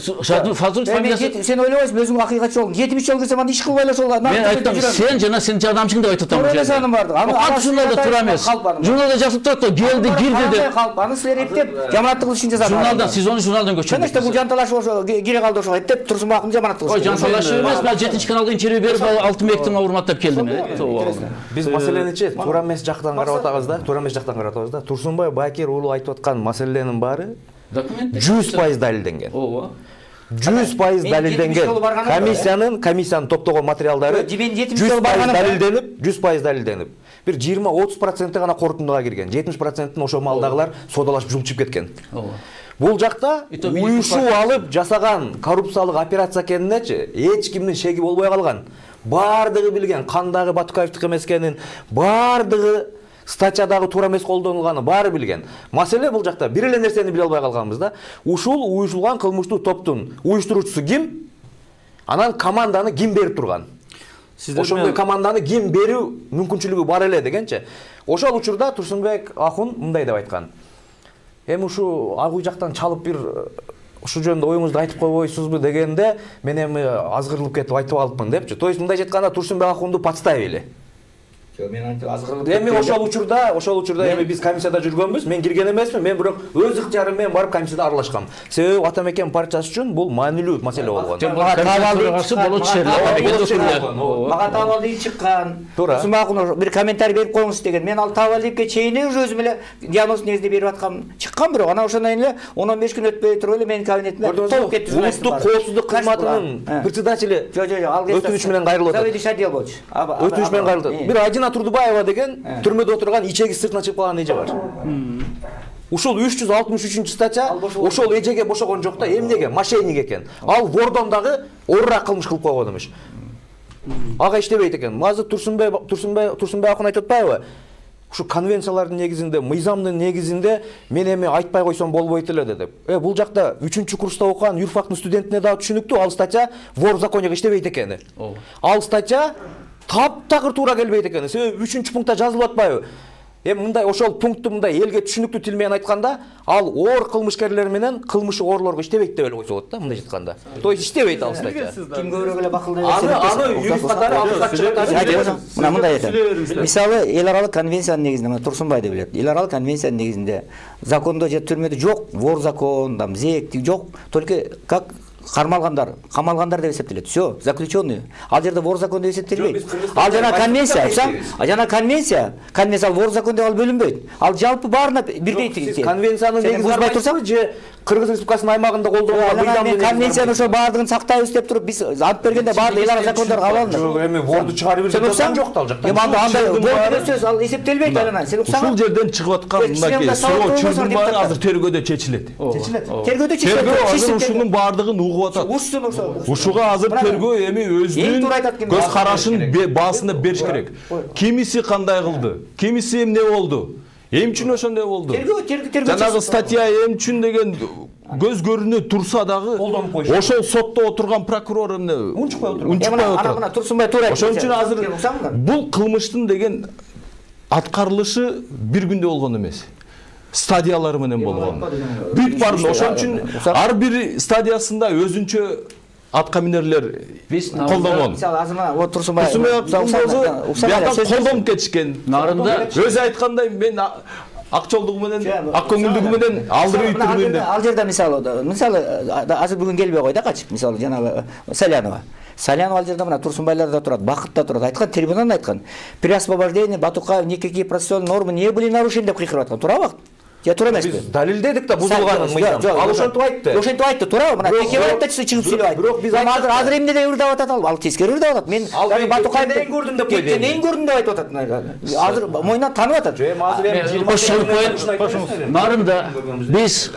фазыл фамилиясы. Сен ойлобойсуңбу, өзүң акыйкат жол жетимиш жол кирсем, анда иш кылбай эле ошол. Мен айттым, сен жана сенин жардамчың деп айтып атам. То'g'ri барды. Аны журналда тура эмес. Журналда жазып турат, келди, кирди деп. Аны силер эптеп жамааттык ишин жазат. Журналдан, сиз ону журналдан көчүрдүңүз. Талаш ошо кире калды ошо эптеп Турсунбай акын жаманат кылышты. Ой, жанталаш эмес, мен жетинчи каналга интервью берип алтын бектин урматтап келдим. Биз маселеничи туура эмес жактан карап атабыз да, туура эмес жактан карап атабыз да. Турсунбай Бакир уулу айтып аткан маселенин баары жүз пайыз далилденген. Ооба. жүз пайыз далилденген. Комиссиянын, комиссиянын топтогон материалдары жүз пайыз далилденип, жүз пайыз далилденип. Бир жыйырма отуз проценти гана корутундуга кирген. жетимиш процентин ошо малдагылар содалашып жулчуп кеткен. Бул жакта уюшуп алып жасаган коррупциялык операция экенинечи эч кимдин шеги болбой калган. Бардыгы билген, кандагы Батукаевдики эмес экенин, бардыгы статьядагы туура эмес колдонулганын баары билген. Маселе бул жакта бир эле нерсени биле албай калганбыз да. Ушул уюшулган кылмыштуу топтун уюштуруучусу ким? Анан команданы ким берип турган? Ошондой команданы ким берүү мүмкүнчүлүгү бар эле дегенчи. Ошол учурда Турсунбек Акун мындай деп айткан. Эми ушу ак үй жактан чалып бир ушу жөнүндө оюңузду айтып койбойсузбу дегенде мен эми азгырылып кетип айтып алыпмын депчи. То есть мындай айтканда Турсунбек Акунду подставили. Мен антип азгырылып. Эми ошол учурда, ошол учурда эми биз комиссияда жүргөнбүз. Мен кирген эмесмин. Мен бирок өз ыктыярым менен барып комиссияда аралашкам. Себеби ата мекен партиясы үчүн бул маанилүү маселе болгон. Мага табалдый чыккан. Турсунбай Акун бир комментарий берип коюңуз деген. Мен ал табалдыйга чейин уже өзүм эле диагноз негизинде берип аткам. Чыккан бирок анан ошондон кийин эле он он беш күн өтпөй туруп эле менин кабинетиме толуп кетти. Улуттук коопсуздук кызматынын председатели өтүнүч менен кайрылып атат. Заведующий отдел болчу. Өтүнүч менен кайрылып атат. Бир Ажина Турдубаева деген түрмөдө отурган ичеги сыртына чыгып калган эже бар. Ушул үч жүз алтымыш үчүнчү статья ошол эжеге бошогон жок да, эмнеге? Мошенник экен. Ал вордон дагы оруураак кылмыш кылып койгон эмиш. Ага иштебейт экен. Мазы Турсунбай Турсунбай Турсунбай Акун айтып атпайбы? Ушу конвенциялардын негизинде, мыйзамдын негизинде мен эми айтпай койсом болбойт эле деп. Э, бул жакта үчүнчү курста окуган юрфактын студентине дагы түшүнүктүү, ал статья вор в законе иштебейт экени. Ал статья таптакыр туура келбейт экен. Себеби үчүнчү пунктта жазылып атпайбы? Эми мындай ошол пунктту мындай элге түшүнүктүү тил менен айтканда, ал оор кылмышкерлер менен кылмышы оорлорго иштебейт деп эле койсо болот да, мындай айтканда. То есть иштебейт ал статья. Ким көбүрөөк эле бакылдай берсе. Аны аны юрист катары алып мына мындай айтам. Мисалы, эл аралык конвенциянын негизинде, мына Турсунбай деп билет. Эл аралык конвенциянын негизинде закондо же түрмөдө жок, вор закон, там зек жок, только как кармалгандар, камалгандар деп эсептелет. Всё, заключенные. Ал жерде вор закон деп эсептелбейт. Ал жана конвенция, айпсам, жана конвенция, конвенция вор закон деп ал бөлүнбөйт. Ал жалпы баарына бирдей тигиз. Конвенциянын негизин бузбай турсак, же Кыргыз Республикасынын аймагында колдонулган мыйзамдын конвенцияны ошо баардыгын сактайбыз деп туруп биз ант бергенде баардык эл ара закондор кабыл алынат. Жок, эми ворду чыгарып берген жок да ал жакта. Эми анда андай вор деген сөз ал эсептелбейт анан. Сен уксаң. Ушул жерден чыгып аткан мындай суроо чүрдүн баары азыр тергөөдө чечилет. Чечилет. Тергөөдө чечилет. Тергөө азыр ушунун баардыгын угуп атат. Ушсун ошо. Ушуга азыр тергөө эми өзүнүн көз карашын баасында бериш керек. Кимиси кандай кылды? Кимиси эмне болду? Эм үчүн ошондой болду. Жанагы статья эм үчүн деген көз көрүнө турса дагы ошол сотто отурган прокурор эмне унчукпай отурган. унчукпай Ана отурат. мына Турсунбай туура айтты. Ошон үчүн азыр бул кылмыштын деген аткарылышы бир күндө болгон эмес. Стадиялары менен болгон. Бүт барын ошон үчүн ар бир стадиясында өзүнчө атка минерлер колдонгон. Мисалы азыр мына вот Турсунбай Турсунбай колдонуп кетишкен. Нарында өзү айткандай мен ак жолдугу менен, ак көңүлдүгү менен алдырып түрмөдө. Ал жерде мисалы, мисалы азыр бүгүн келбей койду качып, мисалы жанагы Салянова. Салянова ал жерде мына Турсунбайлар да турат, Бакыт да турат. Айткан, трибунада айткан. При освобождении Батукаев никакие процессуальные нормы не были нарушены деп кыйкырып аткан. Туурабы? Я тура эмеспи? Биз далилдедик да бузулганын мыйзам. Ал ошентип айтты. Ошентип айтты, туурабы? Мына Текебаевда чыгып сүйлөп айтты. Бирок биз азыр азыр эмнеде ырдап атат ал? Ал тескери ырдап атат. Мен Батукаевди эң көрдүм деп койду. Эң көрдүм деп айтып атат. Азыр мойнунан танып атат. Нарында биз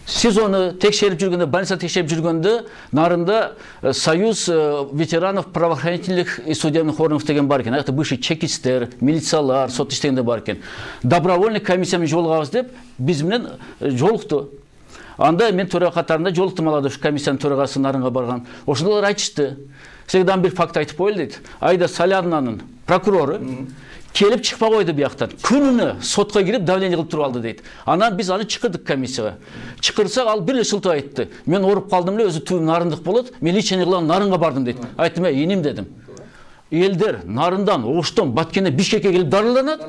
сиз оны текшерип жүргөндө, больница текшерип жүргөндө, Нарында Союз ветеранов правоохранительных и судебных органов деген бар экен. Аяқта бывший чекистер, милициялар, сот иштегенде бар экен. Добровольный комиссиямен жолугабыз деп биз менен жолукту. Анда мен төрага катарында жолуктум, алады ушу комиссиянын төрагасы Нарынга барган. Ошондолор айтышты. Сегден бир факт айтып коелу дейт. Айда Салянанын прокурору келип чыкпай койду бияктан. Күнүнө сотко кирип давление кылып туруп алды дейт. Анан биз аны чыкырдык комиссияга. Чыкырсак ал бир эле шылтып айтты. Мен оруп калдым эле, өзү түбүм Нарындык болот. Мен лечение кылган Нарынга бардым дейт. Айттым, "Эй, иним" дедим. Элдер Нарындан, Оштон, Баткенден Бишкекке келип дарыланат.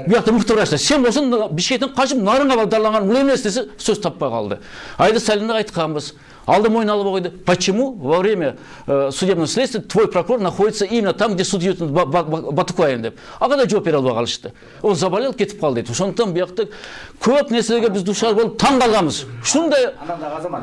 Биякта мыкты врачтар. Сен болсоң Бишкектен качып Нарынга барып дарыланган бул эмес десе, сөз таппай калды. Айда Салянга айтканбыз. Алды мойнуна алып койду. Почему во время э, судебного следствия твой прокурор находится именно там, где суд идет Батукаев деп? А когда жооп бере албай калышты? Он заболел, кетип калды дейт. Ошондон биякта көп нерселерге биз душар болуп таң калганбыз. Ушундай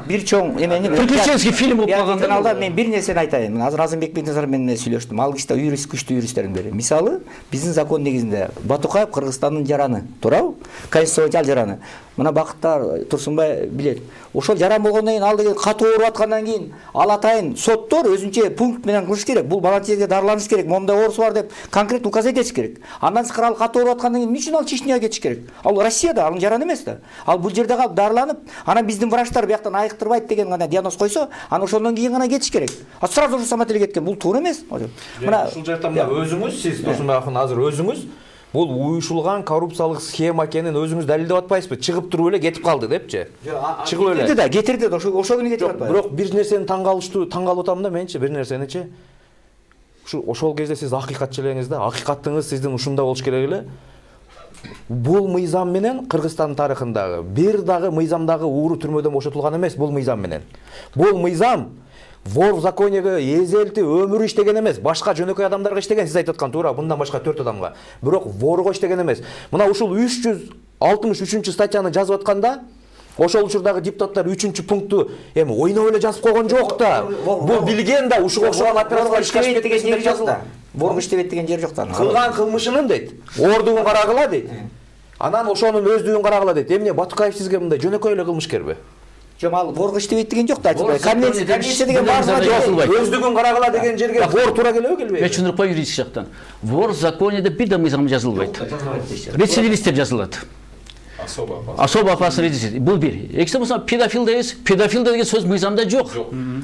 бир чоң эмени приключенческий фильм болуп калганда алда мен бир нерсени айтайын. Азыр Азымбек Бекназаров менен сүйлөштүм. Ал киши да юрист, күчтүү юристтердин бири. Мисалы, биздин закон негизинде Батукаев Кыргызстандын жараны, туурабы? Конституциялык жараны. Мына Бакыттар Турсунбай билет. Ошол жаран болгондон кийин ал деген катуу ооруп аткандан кийин ал атайын соттор өзүнчө пункт менен кылыш керек. Бул баланчеге дарыланыш керек, момундай оорусу бар деп конкрет указ этиш керек. Андан сырткары ал катуу ооруп аткандан кийин эмне үчүн ал Чечняга кетиш керек? Ал Россияда, анын жараны эмес да. Ал бул жерде калып дарыланып, анан биздин врачтар бияктан айыктырбайт деген гана диагноз койсо, анан ошондон кийин гана кетиш керек. А сразу же самотеле кеткен. Бул туура эмес. Мына ушул жерде мына өзүңүз, сиз Турсунбай акын азыр өзүңүз бул уюшулган коррупциялык схема экенин өзүңүз далилдеп атпайсызбы? Чыгып туруп эле кетип калды депчи. Чыгып эле. Кетирди да, кетирди да, ошо ошо күнү кетип атпайбы? Бирок бир нерсени таң калыштуу, таң калып атам да менчи, бир нерсеничи. Ушу ошол кезде сиз акыйкатчы элеңиз да, акыйкатыңыз сиздин ушунда болуш керек эле. Бул мыйзам менен Кыргызстан тарыхындагы бир дагы мыйзамдагы ууру түрмөдөн бошотулган эмес бул мыйзам менен. Бул мыйзам вор в законеге эзелти өмүрү иштеген эмес, башка жөнөкөй адамдарга иштеген, сиз айтып аткан туура, мындан башка төрт адамга. Бирок ворго иштеген эмес. Мына ушул үч жүз алтымыш үчүнчү статьяны жазып атканда, ошол учурдагы депутаттар үчүнчү пункту эми ойноп эле жазып койгон жок да. Бул билген да, ушуга окшогон операциялар иштебейт деген жери жок да. Ворго иштебейт деген жери жок да. Кылган кылмышынын дейт, ордугун карагыла дейт. Анан ошонун өздүгүн карагыла дейт. Эмне Батукаев сизге мындай жөнөкөй эле кылмышкерби? Жок, ал ворго иштебейт деген жок да, айтылбай. Конвенция, конвенция деген баарына жок. Өздүгүн карагыла деген жерге вор туура келеби, келбейби? Мен түшүндүрүп коеюн юридический жактан. Вор в законеде бир да мыйзам жазылбайт. Рецидивист деп жазылат. Особо опасный рецидивист. Бул бир. Экинчи болсо педофил дейбиз. Педофил деген сөз мыйзамда жок.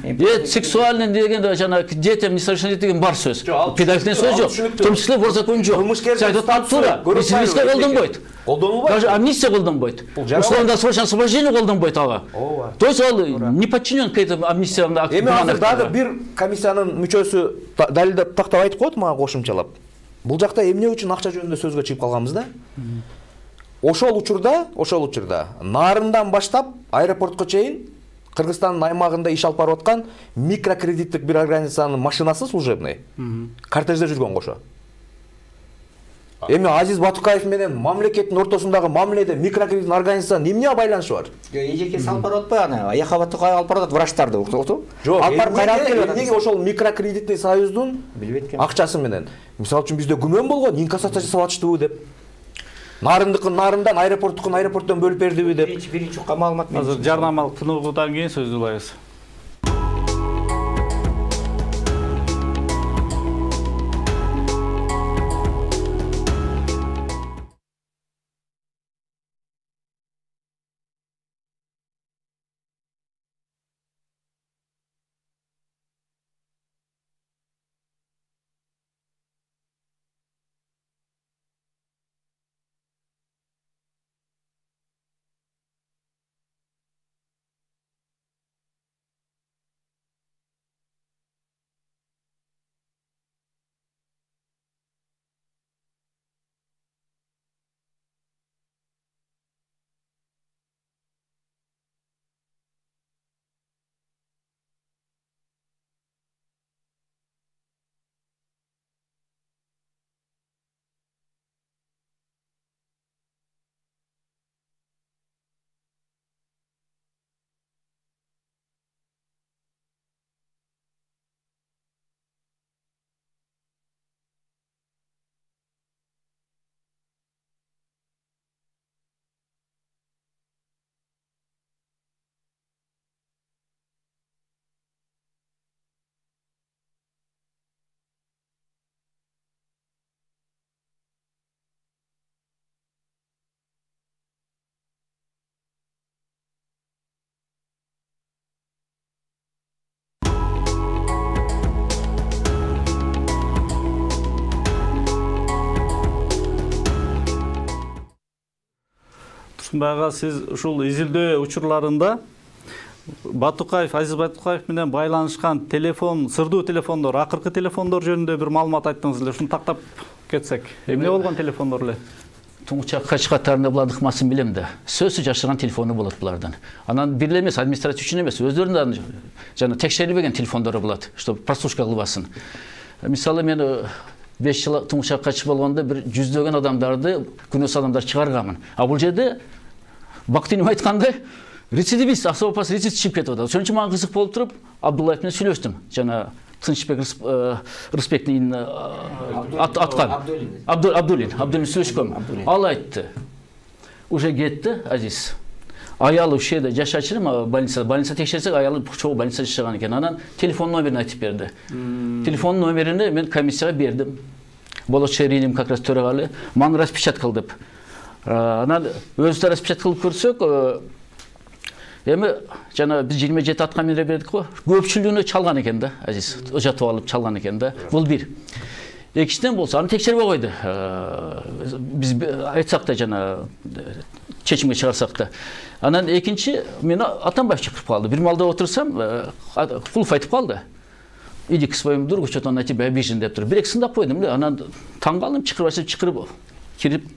Э, сексуальный деген жана детям несовершеннолетним деген бар сөз. Педофил деген сөз жок. В том числе вор законе жок. Айтып туура. Рецидивистке колдонбойт. Колдонулбайт. Даже амнистия колдонбойт. Условно-досрочное освобождение колдонбойт ага. То есть ал не подчинен к этому амнистиянын акту. Эми азыр дагы бир комиссиянын мүчөсү далилдеп тактап айтып коет мага кошумчалап. Бул жакта эмне үчүн акча жөнүндө сөзгө чыгып калганбыз да? Ошол учурда, ошол учурда Нарындан баштап аэропортко чейин Кыргызстандын аймагында иш алып барып аткан микрокредиттик бир организациянын машинасы служебный кортежде жүргөн кошо. Эми Азиз Батукаев менен мамлекеттин ортосундагы мамиледе микрокредиттик организациянын эмне байланышы бар? Эжеке салып барып атпайбы аны? Аяка Батукаев алып барып атат врачтарды, уктуп? Жок, алып барып кайрап келет. Эмнеге ошол микрокредитный союздун акчасы менен? Мисалы үчүн бизде күмөн болгон, инкассация жасап атыштыбы деп. Нарындыкын Нарындан, аэропорттукун аэропорттон бөлүп бердиби деп. Биринчи биринчи маалымат. Азыр жарнамалык тыныгуудан кийин сөз улайбыз. Турсунбай ага, сиз ушул изилдөө учурларында Батукаев, Азиз Батукаев менен байланышкан телефон, сырдуу телефондор, акыркы телефондор жөнүндө бир маалымат айттыңыз эле. Ушуну тактап кетсек. Эмне болгон телефондор эле? Туңчак кач катарында булардын ыкмасын билем да. Сөзсүз жашырган телефону болот булардын. Анан бир эле эмес, администрация үчүн эмес, өздөрүнүн жана текшерилбеген телефондору болот, чтобы прослушка кылбасын. Мисалы мен беш жыл туңчак качып болгондо бир жүздөгөн адамдарды, күнөөс адамдар чыгарганмын. А бул жерде Бактинов айткандай рецидивист, особо опасный рецидивист чыгып кетип атат. Ошон үчүн мага кызык болуп туруп, Абдуллаев менен сүйлөштүм. Жана Тынчбек Рыспектин аткан Абдуллин, Абдуллин сүйлөшкөм. Ал айтты. Уже кетти Азиз. Аялы ушул жерде жашачу эле, больница, больница текшерсек, аялы чогуу больницада жашаган экен. Анан телефон номерин айтып берди. Телефон номерини мен комиссияга бердим. Болочу Ириним как раз төрагалы, маны распечатка кыл деп. Анан өзү распечатка кылып көрсөк, эми жана биз жыйырма жети аткан менен бердик го. Көпчүлүгүнө чалган экен да, Азиз. Жатып алып чалган экен да. Бул бир. Экинчиден болсо, аны текшербей койду. Биз айтсак да жана чечимге чыгарсак да. Анан экинчи мени Атамбаев чакырып калды. Бир малда отурсам, Кулов айтып калды. Иди к своему другу, что-то он на тебя обижен деп тур. Бир эки сындап койдум эле. Анан таң калдым, чакырып чакырып кирип,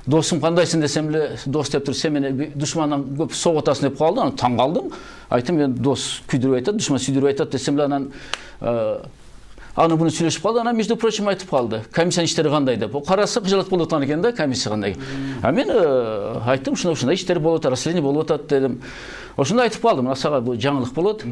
досум кандайсың десем эле, дос деп тур, сен мени душмандан көп согуп атасың деп калды. Анан таң калдым. Айттым, мен дос күйдүрүп айтат, душман сүйдүрүп айтат десем эле, анан аны буну сүйлөшүп калды. Анан между прочим айтып калды. Комиссиянын иштери кандай деп. Караса кыжалат болуп аткан экен да, комиссия кандай. А мен айттым, ушундай-ушундай иштер болуп атат, расследование болуп атат дедим. Ошондо айтып калдым, сага бул жаңылык болот.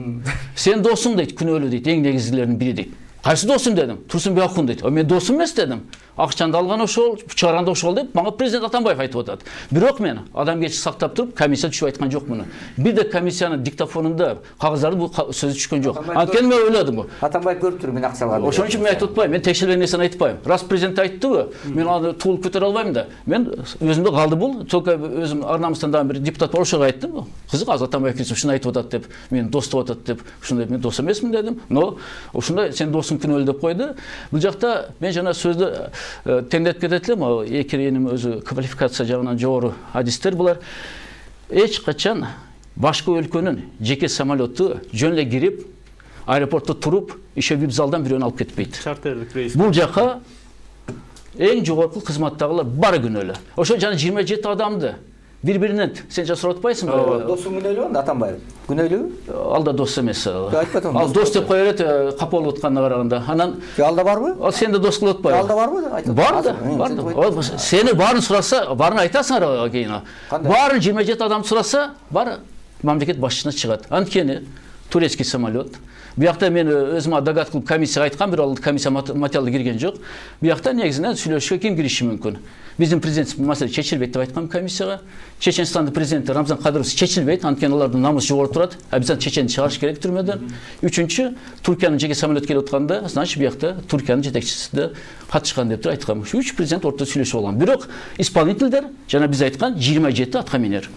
Сен досуң дейт, күнөөлүү дейт, эң негизгилердин бири дейт. Кайсы досум дедим. Турсунбек Акун дейт. А мен досум эмес дедим. Акчанды алган ошол, чыгарган ошол деп мага президент Атамбаев айтып атат. Бирок мен адамгерчилик сактап туруп, комиссия түшүп айткан жок муну. Бир да комиссиянын диктофонунда кагыздарды бул сөзү түшкөн жок. Анткени мен ойлодум го. Атамбаев көрүп туруп мен акча алган. Ошон үчүн мен айтып атпайм. Мен текшерилген нерсени айтпайм. Раз президент айттыбы, мен аны туулуп көтөрө албайм да. Мен өзүмдө калды бул. Только өзүм Арнамыстан дагы бир депутат бар, ошого айттым. Кызык, азыр Атамбаев ушуну айтып атат деп, мен дос деп атат деп, ушундай мен дос эмесмин дедим. Но ушундай сен досуң күнөөлүү деп койду. Бул жакта мен жана сөздү тендет кетет элем, эки эним өзү квалификация жагынан жогору адистер булар. Эч качан башка өлкөнүн жеке самолету жөн эле кирип, аэропортто туруп, иши вип залдан бирөөнү алып кетпейт. Чартерлик рейс. Бул жака эң жогорку кызматтагылар баары күнөөлүү. Ошо жана жыйырма жети адамды бири-биринен сен жа сурап атпайсыңбы? Досуң күнөөлүү анда Атамбаев. Күнөөлүү? Ал да дос эмес. Айтпадым. Ал дос деп кое берет, капа болуп атканына караганда. Анан ал да барбы? Ал сен да дос кылып атпайбы? Ал да барбы? Айтып. Бар да, бар да. Сени баарын сураса, баарын айтасыңар кийин. Баарын жыйырма жети адамды сураса, бар мамлекет башчысына чыгат. Анткени турецкий самолет. Биякта мен өзүмө догадка кылып комиссияга айткам, бирок ал комиссия материалы кирген жок. Биякта негизинен сүйлөшүүгө ким кириши мүмкүн? Биздин президент маселе чечилбейт деп айткам комиссияга. Чеченстандын президенти Рамзан Кадыров чечилбейт, анткени алардын намысы жогору турат. Обязательно чеченди чыгарыш керек түрмөдөн. Үчүнчү, Туркиянын жеке самолет келип атканда, значит, биякта Туркиянын жетекчиси да катышкан деп туруп айткам. Үч президент ортодо сүйлөшүп алган. Бирок исполнительдер жана биз айткан жыйырма жети атка минер.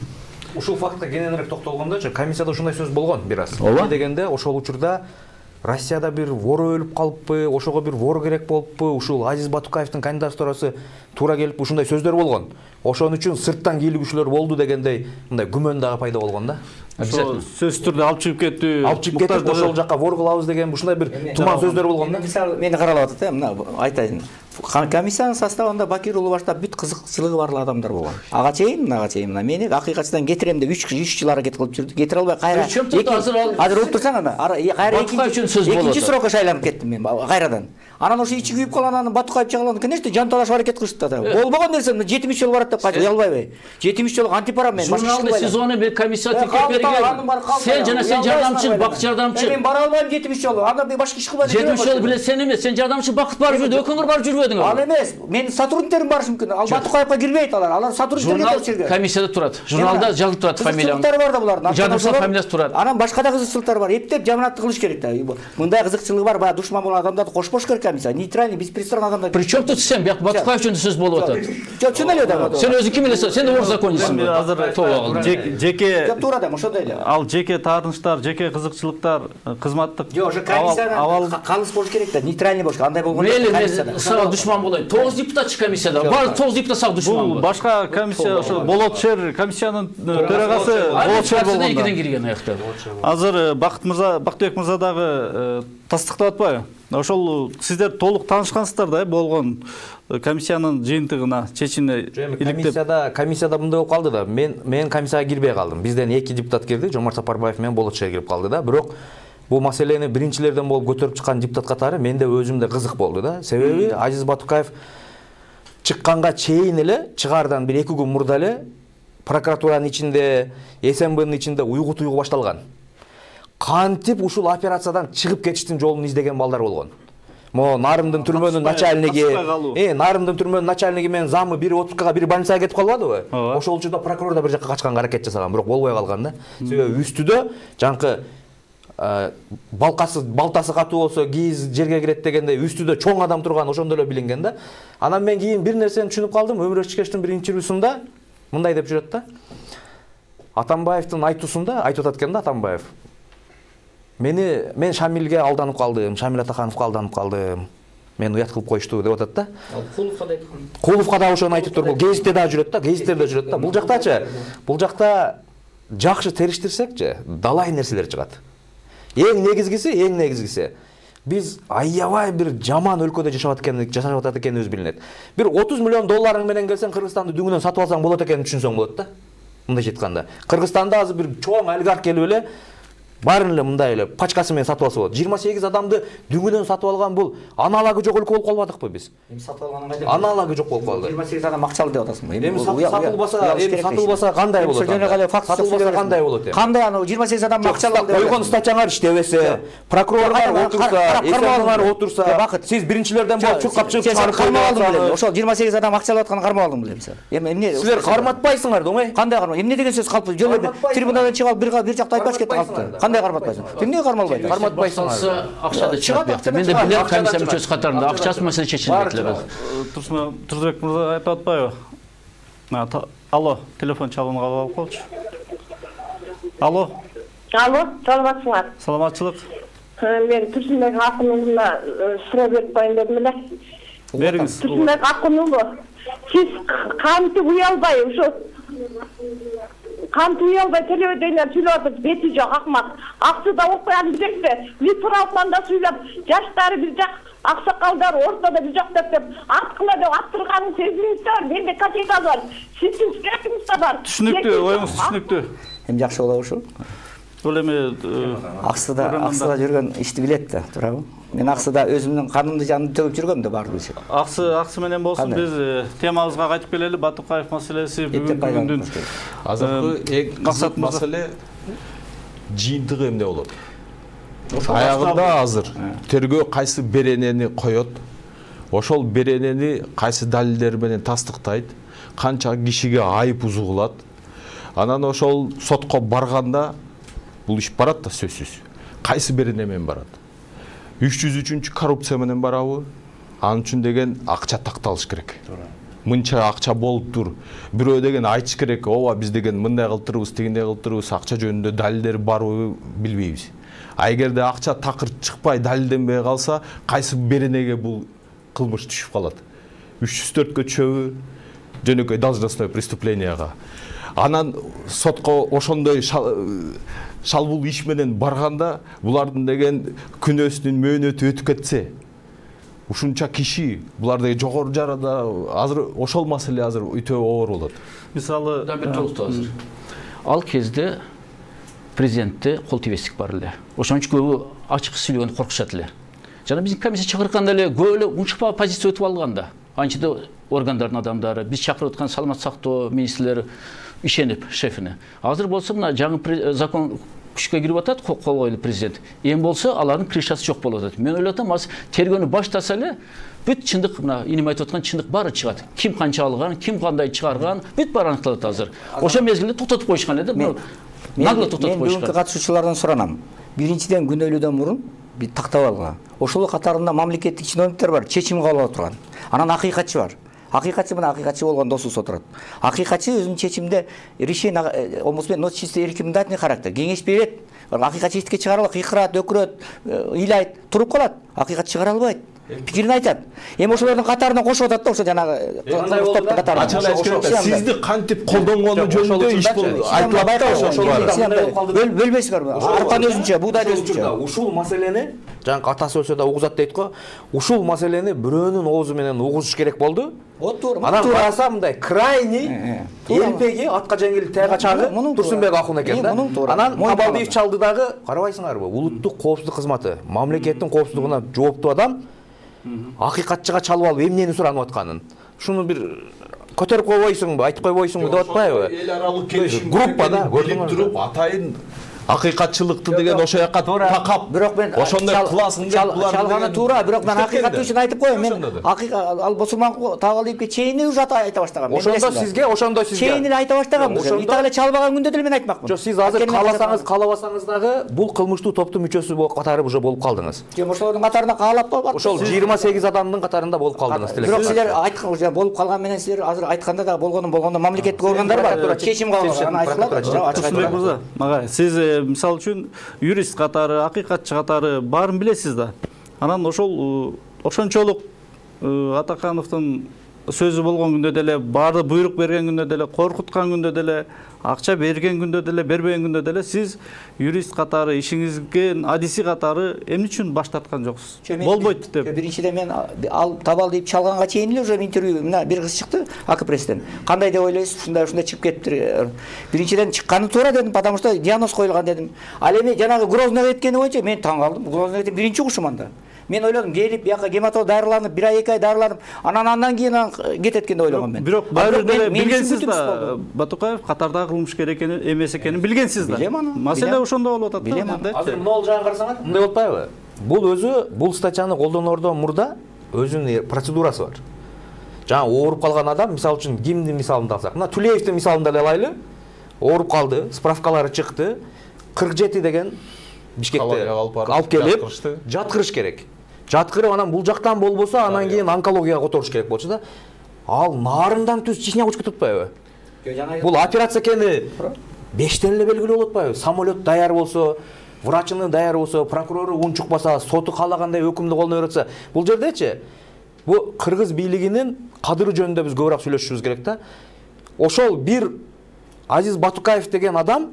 Ушул фактка кененирээк токтолгондочу, комиссияда ушундай сөз болгон бир аз. Эмне дегенде, ошол учурда Россияда бир вор өлүп калыппы, ошого бир вор керек болуппу, ушул Азиз Батукаевдин кандидатурасы туура келип ушундай сөздөр болгон. Ошон үчүн сырттан кийлигүүчүлөр болду дегендей мындай күмөн дагы пайда болгон да. Обязательно. Сөз түрдө алып чыгып кеттү. Алып чыгып кетип ошол жакка вор кылабыз деген ушундай бир туман сөздөр болгон да. Мисалы мени каралап атат, мына айтайын. Комиссиянын составында Бакир уулу баштап бүт кызыкчылыгы бар адамдар болгон. Ага чейин, мынага чейин мына мени акыйкатчыдан кетирем деп үч жыл аракет кылып жүрдү. Кетире албай кайра. Азыр уруп турсаң анда кайра экинчи срокко шайланып кеттим мен кайрадан. Анан ошо ичи күйүп калган, анан Батукаев чагылган, конечно, жан талашып аракет кылышты да. Болбогон нерсе жетимиш жыл барат деп кайтып уялбайбы? жетимиш жыл антипарам мен. Журналдык сезону бир комиссия текеп берген. Сен жана сен жардамчы, бакыт жардамчы. Мен бара албайм жетимиш жыл. Анда башка иш кылбайм. жетимиш жыл биле сен эмес, сен жардамчы бакыт барып жүрдү, өкүңөр барып жүрбөдүң. Ал эмес, менин сотрудниктерим барышы мүмкүн. Ал Батукаевга кирбейт алар. Алар сотрудниктерге тапшырган. Комиссияда турат. Журналда жазылып турат фамилияң. Кызыкчылыктары бар да булардын. Жардамчы фамилиясы турат. Анан башка да кызыкчылыктары бар. Эптеп жаманаттык кылыш керек да. Мындай кызыкчылыгы бар, баягы душман болгон адамдарды кошпош керек комиссия. Нейтральный, беспристрастный адамдар. Причем тут сен бияк Батукаев жөнүндө сөз болуп атат. Жок, чын эле да. Сен өзүң ким элесиң? Сен да орзаконисиң. Азыр жеке туура да, ошондой эле. Ал жеке таарынычтар, жеке кызыкчылыктар, кызматтык жок, ошо комиссияда калыс болуш керек да, нейтральный болуш. Андай болгондо комиссияда. Сага душман болойт. тогуз депутатчы комиссияда. Баары тогуз депутат сага душман. Бул башка комиссия, ошо Болот шаар комиссиянын төрагасы Болот шаар болгон. Экиден кирген аякта. Азыр Бакыт мырза, Бактыбек мырза дагы тастыктап атпайбы? Ошол сиздер толук таанышкансыздар да болгон комиссиянын жыйынтыгына, чечимине иликтеп. Комиссияда комиссияда мындай болуп калды да. Мен мен комиссияга кирбей калдым. Бизден эки депутат кирди, Жомарт Сапарбаев менен Болот шаар кирип калды да. Бирок бул маселени биринчилерден болуп көтөрүп чыккан депутат катары менде өзүмдө кызык болду да. Себеби Азиз Батукаев чыкканга чейин эле, чыгаардан бир эки күн мурда эле прокуратуранын ичинде, СМБнын ичинде уйгу туйгу башталган. Кантип ушул операциядан чыгып кетиштин жолун издеген балдар болгон. Мо Нарымдын түрмөнүн начальниги, э, Нарымдын түрмөнүн начальниги менен замы бири отпускага, бири больницага кетип калбадыбы? Ошол учурда прокурор да бир жакка качканга аракет жасаган, бирок болбой калган да. Себеби үстүдө жанкы балкасы, балтасы катуу болсо кийиз жерге кирет дегенде үстүдө чоң адам турган, ошондо эле билинген да. Анан мен кийин бир нерсени түшүнүп калдым, Өмүр Өчкештин бир интервьюсунда мындай деп жүрөт да. Атамбаевдин айтуусунда айтып атат экен да Атамбаев. Мени мен Шамилге алданып калдым, Шамил Атахановго алданып калдым. Мен уят кылып коюшту деп атат да. Куловго да айткан. Куловго да ошону айтып тур. Бул гезитте да жүрөт да, гезиттерде жүрөт да. Бул жактачы, бул жакта жакшы териштирсекчи, далай нерселер чыгат. Эң негизгиси, эң негизгиси биз аябай бир жаман өлкөдө жашап аткан, жашап атат экенибиз билинет. Бир отуз миллион долларың менен келсең Кыргызстанды дүңүнөн сатып алсаң болот экенин түшүнсөң болот да. Мындай айтканда. Кыргызстанда азыр бир чоң олигарх келип эле баарын эле мындай эле пачкасы менен сатып алса болот. жыйырма сегиз адамды дүңүнөн сатып алган бул аналагы жок өлкө болуп калбадыкпы биз? Эми сатып алганын кайда? Аналагы жок болуп калды. жыйырма сегиз адам акчалуу деп атасыңбы? Эми сатылбаса, эми сатылбаса кандай болот? Сатылбаса кандай болот? Кандай аны жыйырма сегиз адам акчалуу деп койгон статьяңар иштебесе, прокурорлор отурса, эсмалар отурса, сиз биринчилерден болуп чуркап чыгып чыгарып кармалдыңбы? Ошол жыйырма сегиз адам акчалуу атканын кармалдыңбы эмсе? Эми эмне? Силер карматпайсыңар да, оңой. Кандай кармат? Эмне деген сөз калпты? Жөн эле трибунадан чыгып алып бир бир жакта айтпаш кетти калпты. Кандай карматпайсың? Эмне кармалбайт? Карматпайсыңар. Акчада чыгат бияқта. Менде билет комиссия мүчөсү катарында акчасы маселе чечилбейт эле. Турсунбек мырза айтып атпайбы? Алло, телефон чалууну кабыл алып колчу. Алло. Алло, саламатсыңар? Саламатчылык. Мен Турсунбек Акунұлына суроо берип коеюн дедим эле. Бериңиз. Турсунбек Акунұлы, сиз кантип уялбай ошо кантип уялбай телевидениеде сүйлөп атып, бети жок акмак. Аксы да окуян билесизби? Биз туруптан да сүйлөп, жаштары бир жак, аксакалдар ортодо бир жак деп аткыла деп аттырганын сезимиз да бар. Менде категория бар. Сиздин скетиңиз да бар. Түшүнүктүү, оюңуз түшүнүктүү. Эми жакшы болобу ушул? Бул эми аксыда аксыда жүргөн ишти билет да, туурабы? Мен аксыда өзүмдүн канымды жанымды төгүп жүргөм да баардыгы. Аксы аксы менен болсун, биз темабызга кайтып келели. Батукаев маселеси бүгүндүн азыркы эң максат маселе жыйынтыгы эмне болот? Аягында азыр тергөө кайсы беренени коет, ошол беренени кайсы далилдер менен тастыктайт, канча кишиге айып узгулат. Анан ошол сотко барганда бул иш барат да сөзсүз. Кайсы берене менен барат? үч жүз үчүнчү коррупция менен барабы? Анын үчүн деген акча такталыш керек. Мынча акча болуптур. Бирөө деген айтыш керек, ооба биз деген мындай кылтырбыз, тигиндей кылтырбыз, акча жөнүндө далилдер барбы билбейбиз. А эгерде акча такыр чыкпай, далилденбей калса, кайсы беренеге бул кылмыш түшүп калат? үч жүз төрткө түшөбү? Жөнөкөй должностное преступлениега. Анан сотко ошондой шалбул иш менен барганда булардын деген күнөөсүнүн мөөнөтү өтүп кетсе, ушунча киши буларды жогору жарада азыр ошол маселе азыр өтө оор болот. Мисалы, да бир толуктоо азыр. Ал кезде президентте кол тийбестик бар эле. Ошон үчүн көбү ачык сүйлөгөндө коркушат эле. Жана биздин комиссия чакыртканда эле көп эле унчукпа позиция өтүп алган да. Анчада органдардын адамдары, биз чакырып аткан саламат сактоо министрлери ишенип шефине. Азыр болсо мына жаңы закон күчкө кирип атат, кол койлду президент. Эми болсо алардын крышасы жок болуп атат. Мен ойлоп атам, азыр тергөөнү баштаса эле бүт чындык, мына инем айтып аткан чындык баары чыгат. Ким канча алган, ким кандай чыгарган, бүт баары аныкталат азыр. Ошол мезгилде токтотуп коюшкан эле, бул нагло токтотуп коюшкан. Мен бүгүнкү катышуучулардан суранам. Биринчиден күнөөлүүдөн мурун бир тактап алган. Ошол катарында мамлекеттик чиновниктер бар, чечим кабыл алып турган. Анан акыйкатчы бар. Акыйкатчы менен акыйкатчы болгон досубуз отурат. Акыйкатчы өзүнүн чечимде решение омусмен нот чисто рекомендательный характер. Кеңеш берет. Акыйкатчы иштикке чыгара албайт, кыйкырат, өкүрөт, ыйлайт, туруп калат. Акыйкат чыгара албайт. пикирин айтат. Эми ошолордун катарына кошуп атат да, ошо жанагы топтун катарына. Сизди кантип колдонгону жөнүндө иш айтылат да, ошол бөлбөйсүңөр. Арпаны өзүнчө, буудайды өзүнчө. Ушул маселени жаңы атасы өлсө да угузат дейт го. Ушул маселени бирөөнүн оозу менен угузуш керек болду. Вот туура. Анан караса мындай крайний элпеги атка жеңил тайга чагы Турсунбек Акун экен да. Анан Абалдиев чалды дагы, карабайсыңарбы? Улуттук коопсуздук кызматы, мамлекеттин коопсуздугуна жооптуу адам акыйкатчыга чалып алып эмнени суранып атканын. Шуну бир көтөрүп койбойсуңбу, айтып койбойсуңбу деп атпайбы? Эл аралык келишимге билип туруп атайын акыйкатчылыкты деген ошо жака такап, бирок мен ошондой кыласың деп булар чалганы туура, бирок мен акыйкат үчүн айтып коеюн. Мен акыйкат ал мусулман Табалдиевге чейин уже айта баштагам. Ошондо сизге, ошондо сизге чейин эле айта баштагам. Итак эле чалбаган күндө деле мен айтмакмын. Жок, сиз азыр кааласаңыз, каалабасаңыз дагы бул кылмыштуу топтун мүчөсү болуп катары уже болуп калдыңыз. Жок, ошолордун катарына каалап бар. Ошол жыйырма сегиз адамдын катарында болуп калдыңыз. Бирок силер айткан уже болуп калган менен силер азыр айтканда да болгону болгондо мамлекеттик органдар бар. Чечим кабыл алган, айтылат. Мага сиз мисалы үчүн юрист катары, акыйкатчы катары баарын билесиз да. Анан ошол ошончолук Атакановдун сөзү болгон күндө деле, баарды буйрук берген күндө деле, коркуткан күндө деле, акча берген күндө деле, бербеген күндө деле сиз юрист катары, ишиңизге адиси катары эмне үчүн баш тарткан жоксуз? Болбойт деп. Биринчиден мен ал Табалдиев чалганга чейин эле уже интервью мына бир кыз чыкты Акпресстен. Кандай деп ойлойсуз? Ушундай ушундай чыгып кетиптир. Биринчиден чыкканы туура дедим, потому что диагноз коюлган дедим. Ал эми жанагы Грозного кеткени боюнча мен таң калдым. Грозного кеткен биринчи угушум анда. Мен ойлодум, келип бияка гематолог даарыланып, бир ай эки ай даарыланып, анан андан кийин кетет экен деп ойлогом мен. Бирок баары деле билгенсиз да, Батукаев катардагы кылмышкер экени, эмес экенин билгенсиз да. Билем аны. Маселе ошондо болуп атат да. Билем аны. Азыр мына жагын карасаңар, мындай болуп атпайбы? Бул өзү, бул статьяны колдонордон мурда өзүнүн процедурасы бар. Жана ооруп калган адам, мисалы үчүн кимдин мисалын алсак, мына Тулеевдин мисалын деле алайлы. Ооруп калды, справкалары чыкты. кырк жети деген Бишкекте алып келип жаткырыш керек. Жаткырып анан бул жактан болбосо анан кийин онкологияга которуш керек болчу да. Ал нарындан түз Чечняга учуп кетипатпайбы? Бул операция экени бештен эле белгилүү болуп атпайбы? Самолет даяр болсо, врачыны даяр болсо, прокурору ун чукпаса, соту каалагандай өкүмдү колдоно берсе, бул жердечи бу кыргыз бийлигинин кадыры жөнүндө биз көбүрөөк сүйлөшүшүбүз керек да. Ошол бир Азиз Батукаев деген адам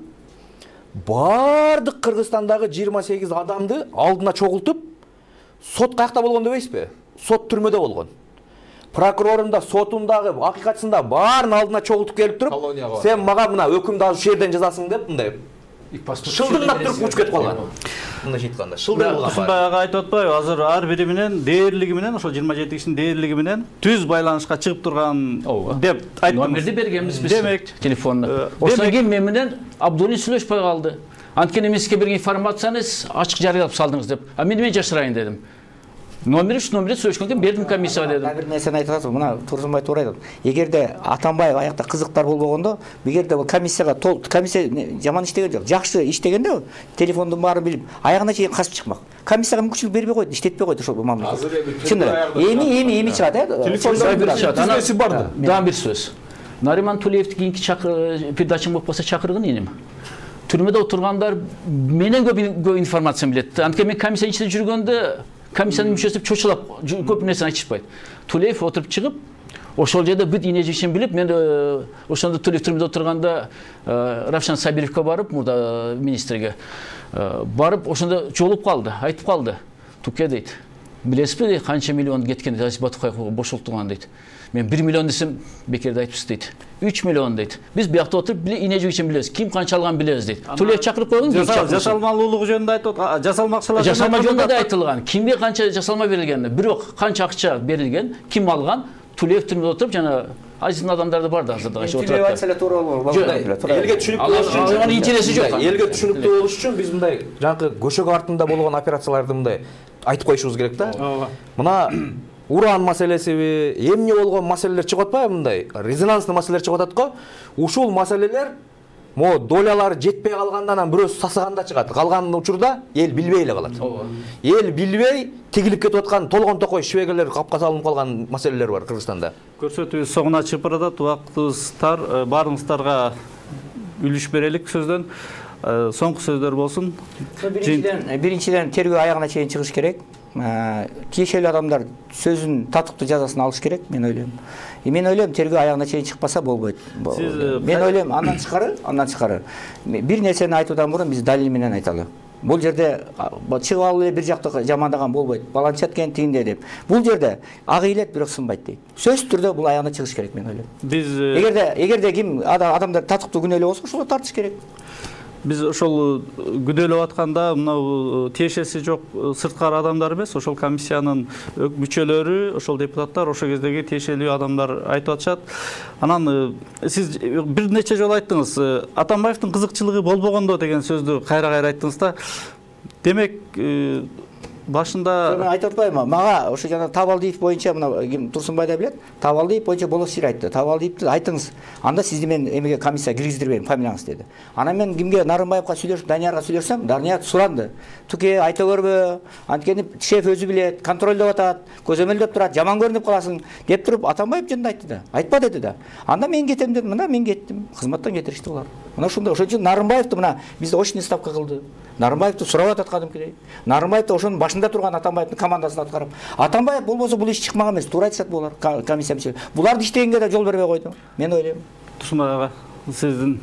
бардык Кыргызстандагы жыйырма сегиз адамды алдына чогултуп, сот каякта болгон дебейсизби? Сот түрмөдө болгон. Прокурорунда, сотундагы, акыйкатчысында баарын алдына чогултуп келип туруп, сен мага мына өкүмдү азыр ушул жерден жазасың деп мындай шылдыңдап туруп учуп кетип калган. Мындай айтканда, шылдыңдап. Ушундай айтып атпайбы? Азыр ар бири менен дээрлиги менен, ошо жыйырма жети кишинин дээрлиги менен түз байланышка чыгып турган деп айттым. Номерди бергенбиз биз. Демек, телефонду. Ошондон кийин мен менен Абдуллин сүйлөшпөй калды. Анткени мен сизге берген информацияны ачык жарыялап салдыңыз деп. А мен эмне жашырайын дедим. Номер үч номерди сөйлөшкөндөн бердим комиссияга дедим. Бир нерсени айтып атасыз, мына Турсунбай туура айтат. Эгерде Атамбаев аякта кызыктар болбогондо, эгерде бул комиссияга толук, комиссия жаман иштеген жок, жакшы иштегенде телефондун баарын билип, аягына чейин касып чыкмак. Комиссияга мүмкүнчүлүк бербей койду, иштетпей койду ошол мамлекет. Чын эле. Эми эми эми чыгат, э? Телефондон тизмеси барды. Дагы бир сөз. Нариман Тулеевди кийинки передачам болуп калса чакыргын энем. Түрмөдө отургандар менен көп информация билет. Анткени мен комиссия ичинде жүргөндө комиссиянын мүчөсү чочулап көп нерсени айтышпайт. Тулеев отуруп чыгып, ошол жерде бүт ине жишин билип, мен ошондо Тулеев түрмөдө отурганда Равшан Сабировго барып, мурда министрге барып, ошондо жолуп калды, айтып калды. Туке дейт. Билесизби канча миллион кеткен Азиз Батукаев бошолтулган дейт. Мен бир миллион десем бекерде айтыпсыз дейт. үч миллион дейт. Биз биякта отуруп ине жигичин билебиз. Ким канча алган билебиз дейт. Тулеев чакырып койгон, жасалмалуулугу жөнүндө айтып атат. Жасалмакчылар жасалма жөнүндө да айтылган. Кимге канча жасалма берилген, бирок канча акча берилген, ким алган, Тулеев түрмөдө отуруп жана Азиздин адамдары бар да азыр дагы отуруп. Тулеев айтса эле туура болот. Элге түшүнүктүү болуш үчүн анын интереси жок. Элге түшүнүктүү болуш үчүн биз мындай жанакы көшөгө артында болгон операцияларды мындай айтып коюшубуз керек да. Мына уран маселесиби, эмне болгон маселелер чыгып атпайбы мындай? Резонанстуу маселелер чыгып атат го. Ушул маселелер мо долялары жетпей калгандан анан бирөөсү сасыганда чыгат. Калган учурда эл билбей эле калат. Эл билбей тигилип кетип аткан толгон токой швегелер капка салынып калган маселелер бар Кыргызстанда. Көрсөтүүбүз соңуна чыгып баратат. Убактыбыз тар, баарыңыздарга үлүш берелик сөздөн. Соңку сөздөр болсун. Биринчиден, биринчиден тергөө аягына чейин чыгыш керек. тиешелүү адамдар сөзүн татыктуу жазасын алыш керек, мен ойлойм. Мен ойлойм, тергөө аягына чейин чыкпаса болбойт. Мен ойлойм, андан тышкары, андан тышкары бир нерсени айтуудан мурун биз далил менен айталы. Бул жерде чыгып алып эле бир жакты жамандаган болбойт. Баланча эткен тигинде деп. Бул жерде ак ыйлет, бирок сынбайт дейт. Сөзсүз түрдө бул аягына чыгыш керек, мен ойлойм. Биз эгерде эгерде ким адамдар татыктуу күнөөлүү болсо, ошолор тартыш керек. Биз ошол күнөөлөп атканда мына тиешеси жок сырткары адамдар эмес, ошол комиссиянын мүчөлөрү, ошол депутаттар, ошол кездеги тиешелүү адамдар айтып атышат. Анан сиз бир нече жолу айттыңыз, Атамбаевдин кызыкчылыгы болбогондо деген сөздү кайра-кайра айттыңыз да. Демек, башында мен айтып атпаймынбы, мага ошо жана Табалдиев боюнча мына ким Турсунбай да билет, Табалдиев боюнча Болосир айтты. Табалдиевди айтыңыз, анда сизди мен эмеге комиссия киргиздирбейм, фамилияңыз деди. Анан мен кимге, Нарымбаевга сүйлөшүп, Даниярга сүйлөшсөм, Данияр суранды. Туке айта көрбө, анткени шеф өзү билет, контролдоп атат, көзөмөлдөп турат, жаман көрүнүп каласың деп туруп Атамбаев жөнүндө айтты да. Айтпа деди да. Анда мен кетем дедим, мына мен кеттим. Кызматтан кетиришти булар. Мына ушундай, ошон үчүн Нарымбаевди мына бизде очный ставка кылды. Нарымбаевди сурап атат кадимкидей. Нарымбаевди ошонун башында турган Атамбаевдин командасын аткарып. Атамбаев болбосо бул иш чыкмаган эмес, туура айтышат булар, комиссия мүчөлөрү. Буларды иштегенге да жол бербей койду. Мен ойлойм. Турсунбай ага, сиздин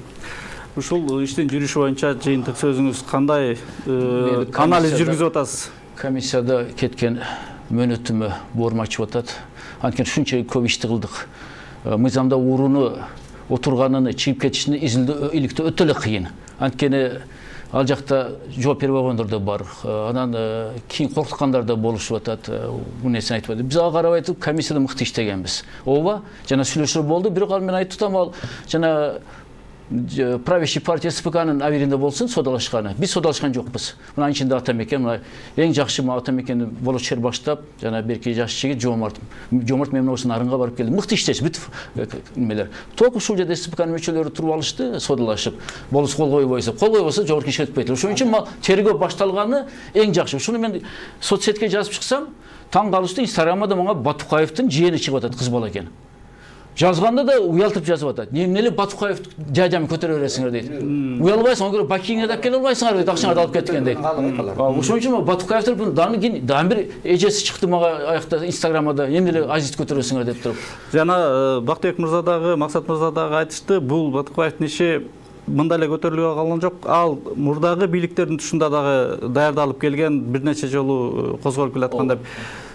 ушул иштин жүрүшү боюнча жыйынтык сөзүңүз кандай анализ жүргүзүп атасыз? Комиссияда кеткен мөөнөтүмө боорум ачып атат. Анткени ушунча көп ишти кылдык. Мыйзамда урууну отурганын чыгып кетишини изилдөө иликтөө өтө эле кыйын. Анткени ал жакта жооп бербей койгондор да бар. Анан кийин коркуткандар да болушуп атат. Бул нерсени айтып атат. Биз ага карабай туруп комиссияда мыкты иштегенбиз. Ооба, жана сүйлөшүү болду, бирок ал мен айтып атам, ал жана правящий партия СПКнын абийиринде болсун содалашканы. Биз содалашкан жокпуз. Мына ичинде Атамекен, мына эң жакшы Атамекенди болочер баштап, жана берки жаш жигит Жомарт. Жомарт мен осу Нарынга барып келди. Мыкты иштеш, бүт немелер. Толук ушул жерде СПКнын мүчөлөрү туруп алышты, содалашып. Болус кол койбойсо, кол койбосо жогорку ишке өтпөйт эле. Ошон үчүн тергөө башталганы эң жакшы. Ушуну мен соцсетке жазып чыксам, таң калышты, Инстаграмда мага Батукаевдин жыйыны чыгып атат, кыз бала экен. Жазганда да уялтып жазып атат. Эмнеле Батукаев жажам көтөрө бересиңер дейт. Уялбайсың, аны көрүп бакиңе да келе албайсыңар дейт, акчаңарды алып кеткен дейт. Ошон үчүн Батукаевдин даны кийин дагы бир эжеси чыкты мага аякта Инстаграмда, эмнеле азиз көтөрөсүңер деп туруп. Жана Бактыбек мырза дагы, Максат мырза дагы айтышты, бул Батукаевдин иши мындай эле көтөрүлүп калган жок. Ал мурдагы бийликтердин тушунда дагы даярдалып келген, бир нече жолу козголуп келаткан деп.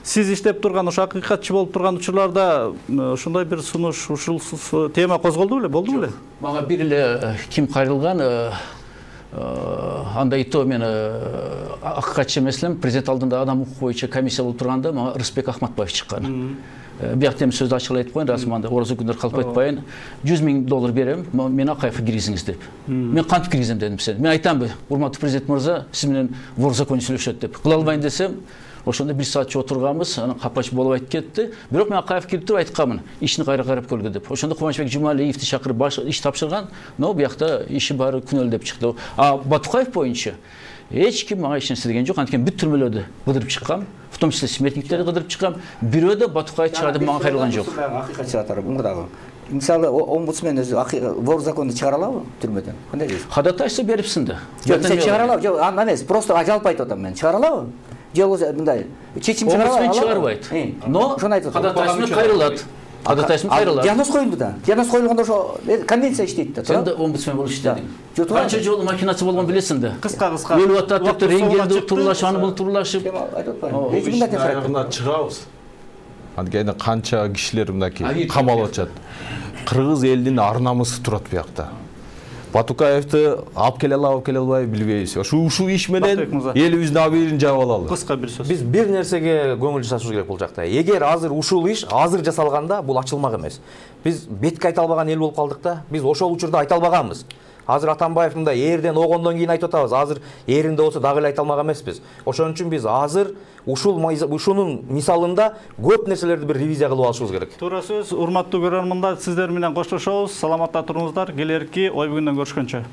Сиз иштеп турган, ошо акыйкатчы болуп турган учурларда ушундай бир сунуш, ушул тема козголду беле, болду беле? Мага бир эле ким кайрылган, анда ито мен акыйкатчы эмес элем, президент алдында адам укугу боюнча комиссия болуп турганда мага Рысбек Ахматбаев чыккан. Биякта эми сөздү ачык эле айтып коеюн, расманда орозо күндөр калып кетпайын. жүз миң доллар берем, мени Акаевге киргизиңиз деп. Мен кантип киргизем дедим сен. Мен айтамбы, урматтуу президент мырза, сиз менен вор законный сүйлөшөт деп. Кыла албайын десем, ошондо бир саатчы отурганбыз, анан капач болуп айтып кетти. Бирок мен Акаев кирип туруп айтканмын, ишини кайра карап көргү деп. Ошондо Кубанычбек Жумалиевди чакырып баш иш тапшырган, но биякта иши баары күнөөлүү деп чыкты. А Батукаев боюнча эч ким мага эч нерсе деген жок. Анткени бүт түрмөлөрдү кыдырып чыккам, в том числе смертниктерди кыдырып чыккам. Бирөө да Батукаев чыгарды мага кайрылган жок. Акыйкат чыгатары мурдагы. Мисалы, омбудсмен өзү вор законду чыгара алабы түрмөдөн? Кандай дейсиз? Ходатайство берипсиң да. Жок, сен чыгара алабы? Жок, анда эмес, просто жалпы айтып атам мен. Чыгара алабы? Жок, мындай. Чечим чыгара алабы? Омбудсмен чыгарбайт. Но ходатайство кайрылат. Ходатайство кайрылат. Диагноз коюлду да. Диагноз коюлганда ошо конвенция иштейт да. Сен да омбудсмен болуп иштедиң. Канча жолу макинасы болгон билесиң да. Кыска-кыска. Өлүп атат деп туруп рентгенди турлашып, аны бул турлашып. Айтып атпаймынбы? Эч кимден аяғына чыгабыз. Анткени канча кишилер мынакей камалып атышат. Кыргыз элинин ар намысы турат биякта. Батукаевди алып келе алабы, келе албайбы билбейбиз. Ушул ушул иш менен элибиздин абийирин жаап алалы. Кыска бир сөз. Биз бир нерсеге көңүл жасашыбыз керек бул жакта. Эгер азыр ушул иш азыр жасалганда, бул ачылмак эмес. Биз бетке айта албаган эл болуп калдык да. Биз ошол учурда айта албаганбыз. Азыр Атамбаев мындай эрден огондон кийин айтып атабыз. Азыр эринде болсо дагы эле айта алмак эмеспиз. Ошон үчүн биз азыр ушул ушунун мисалында көп нерселерди бир ревизия кылып алышыбыз керек. Туура сөз. Урматтуу көрөрмандар, сиздер менен коштошобуз. Саламатта туруңуздар. Келерки ой бүгүндөн көрүшкөнчө.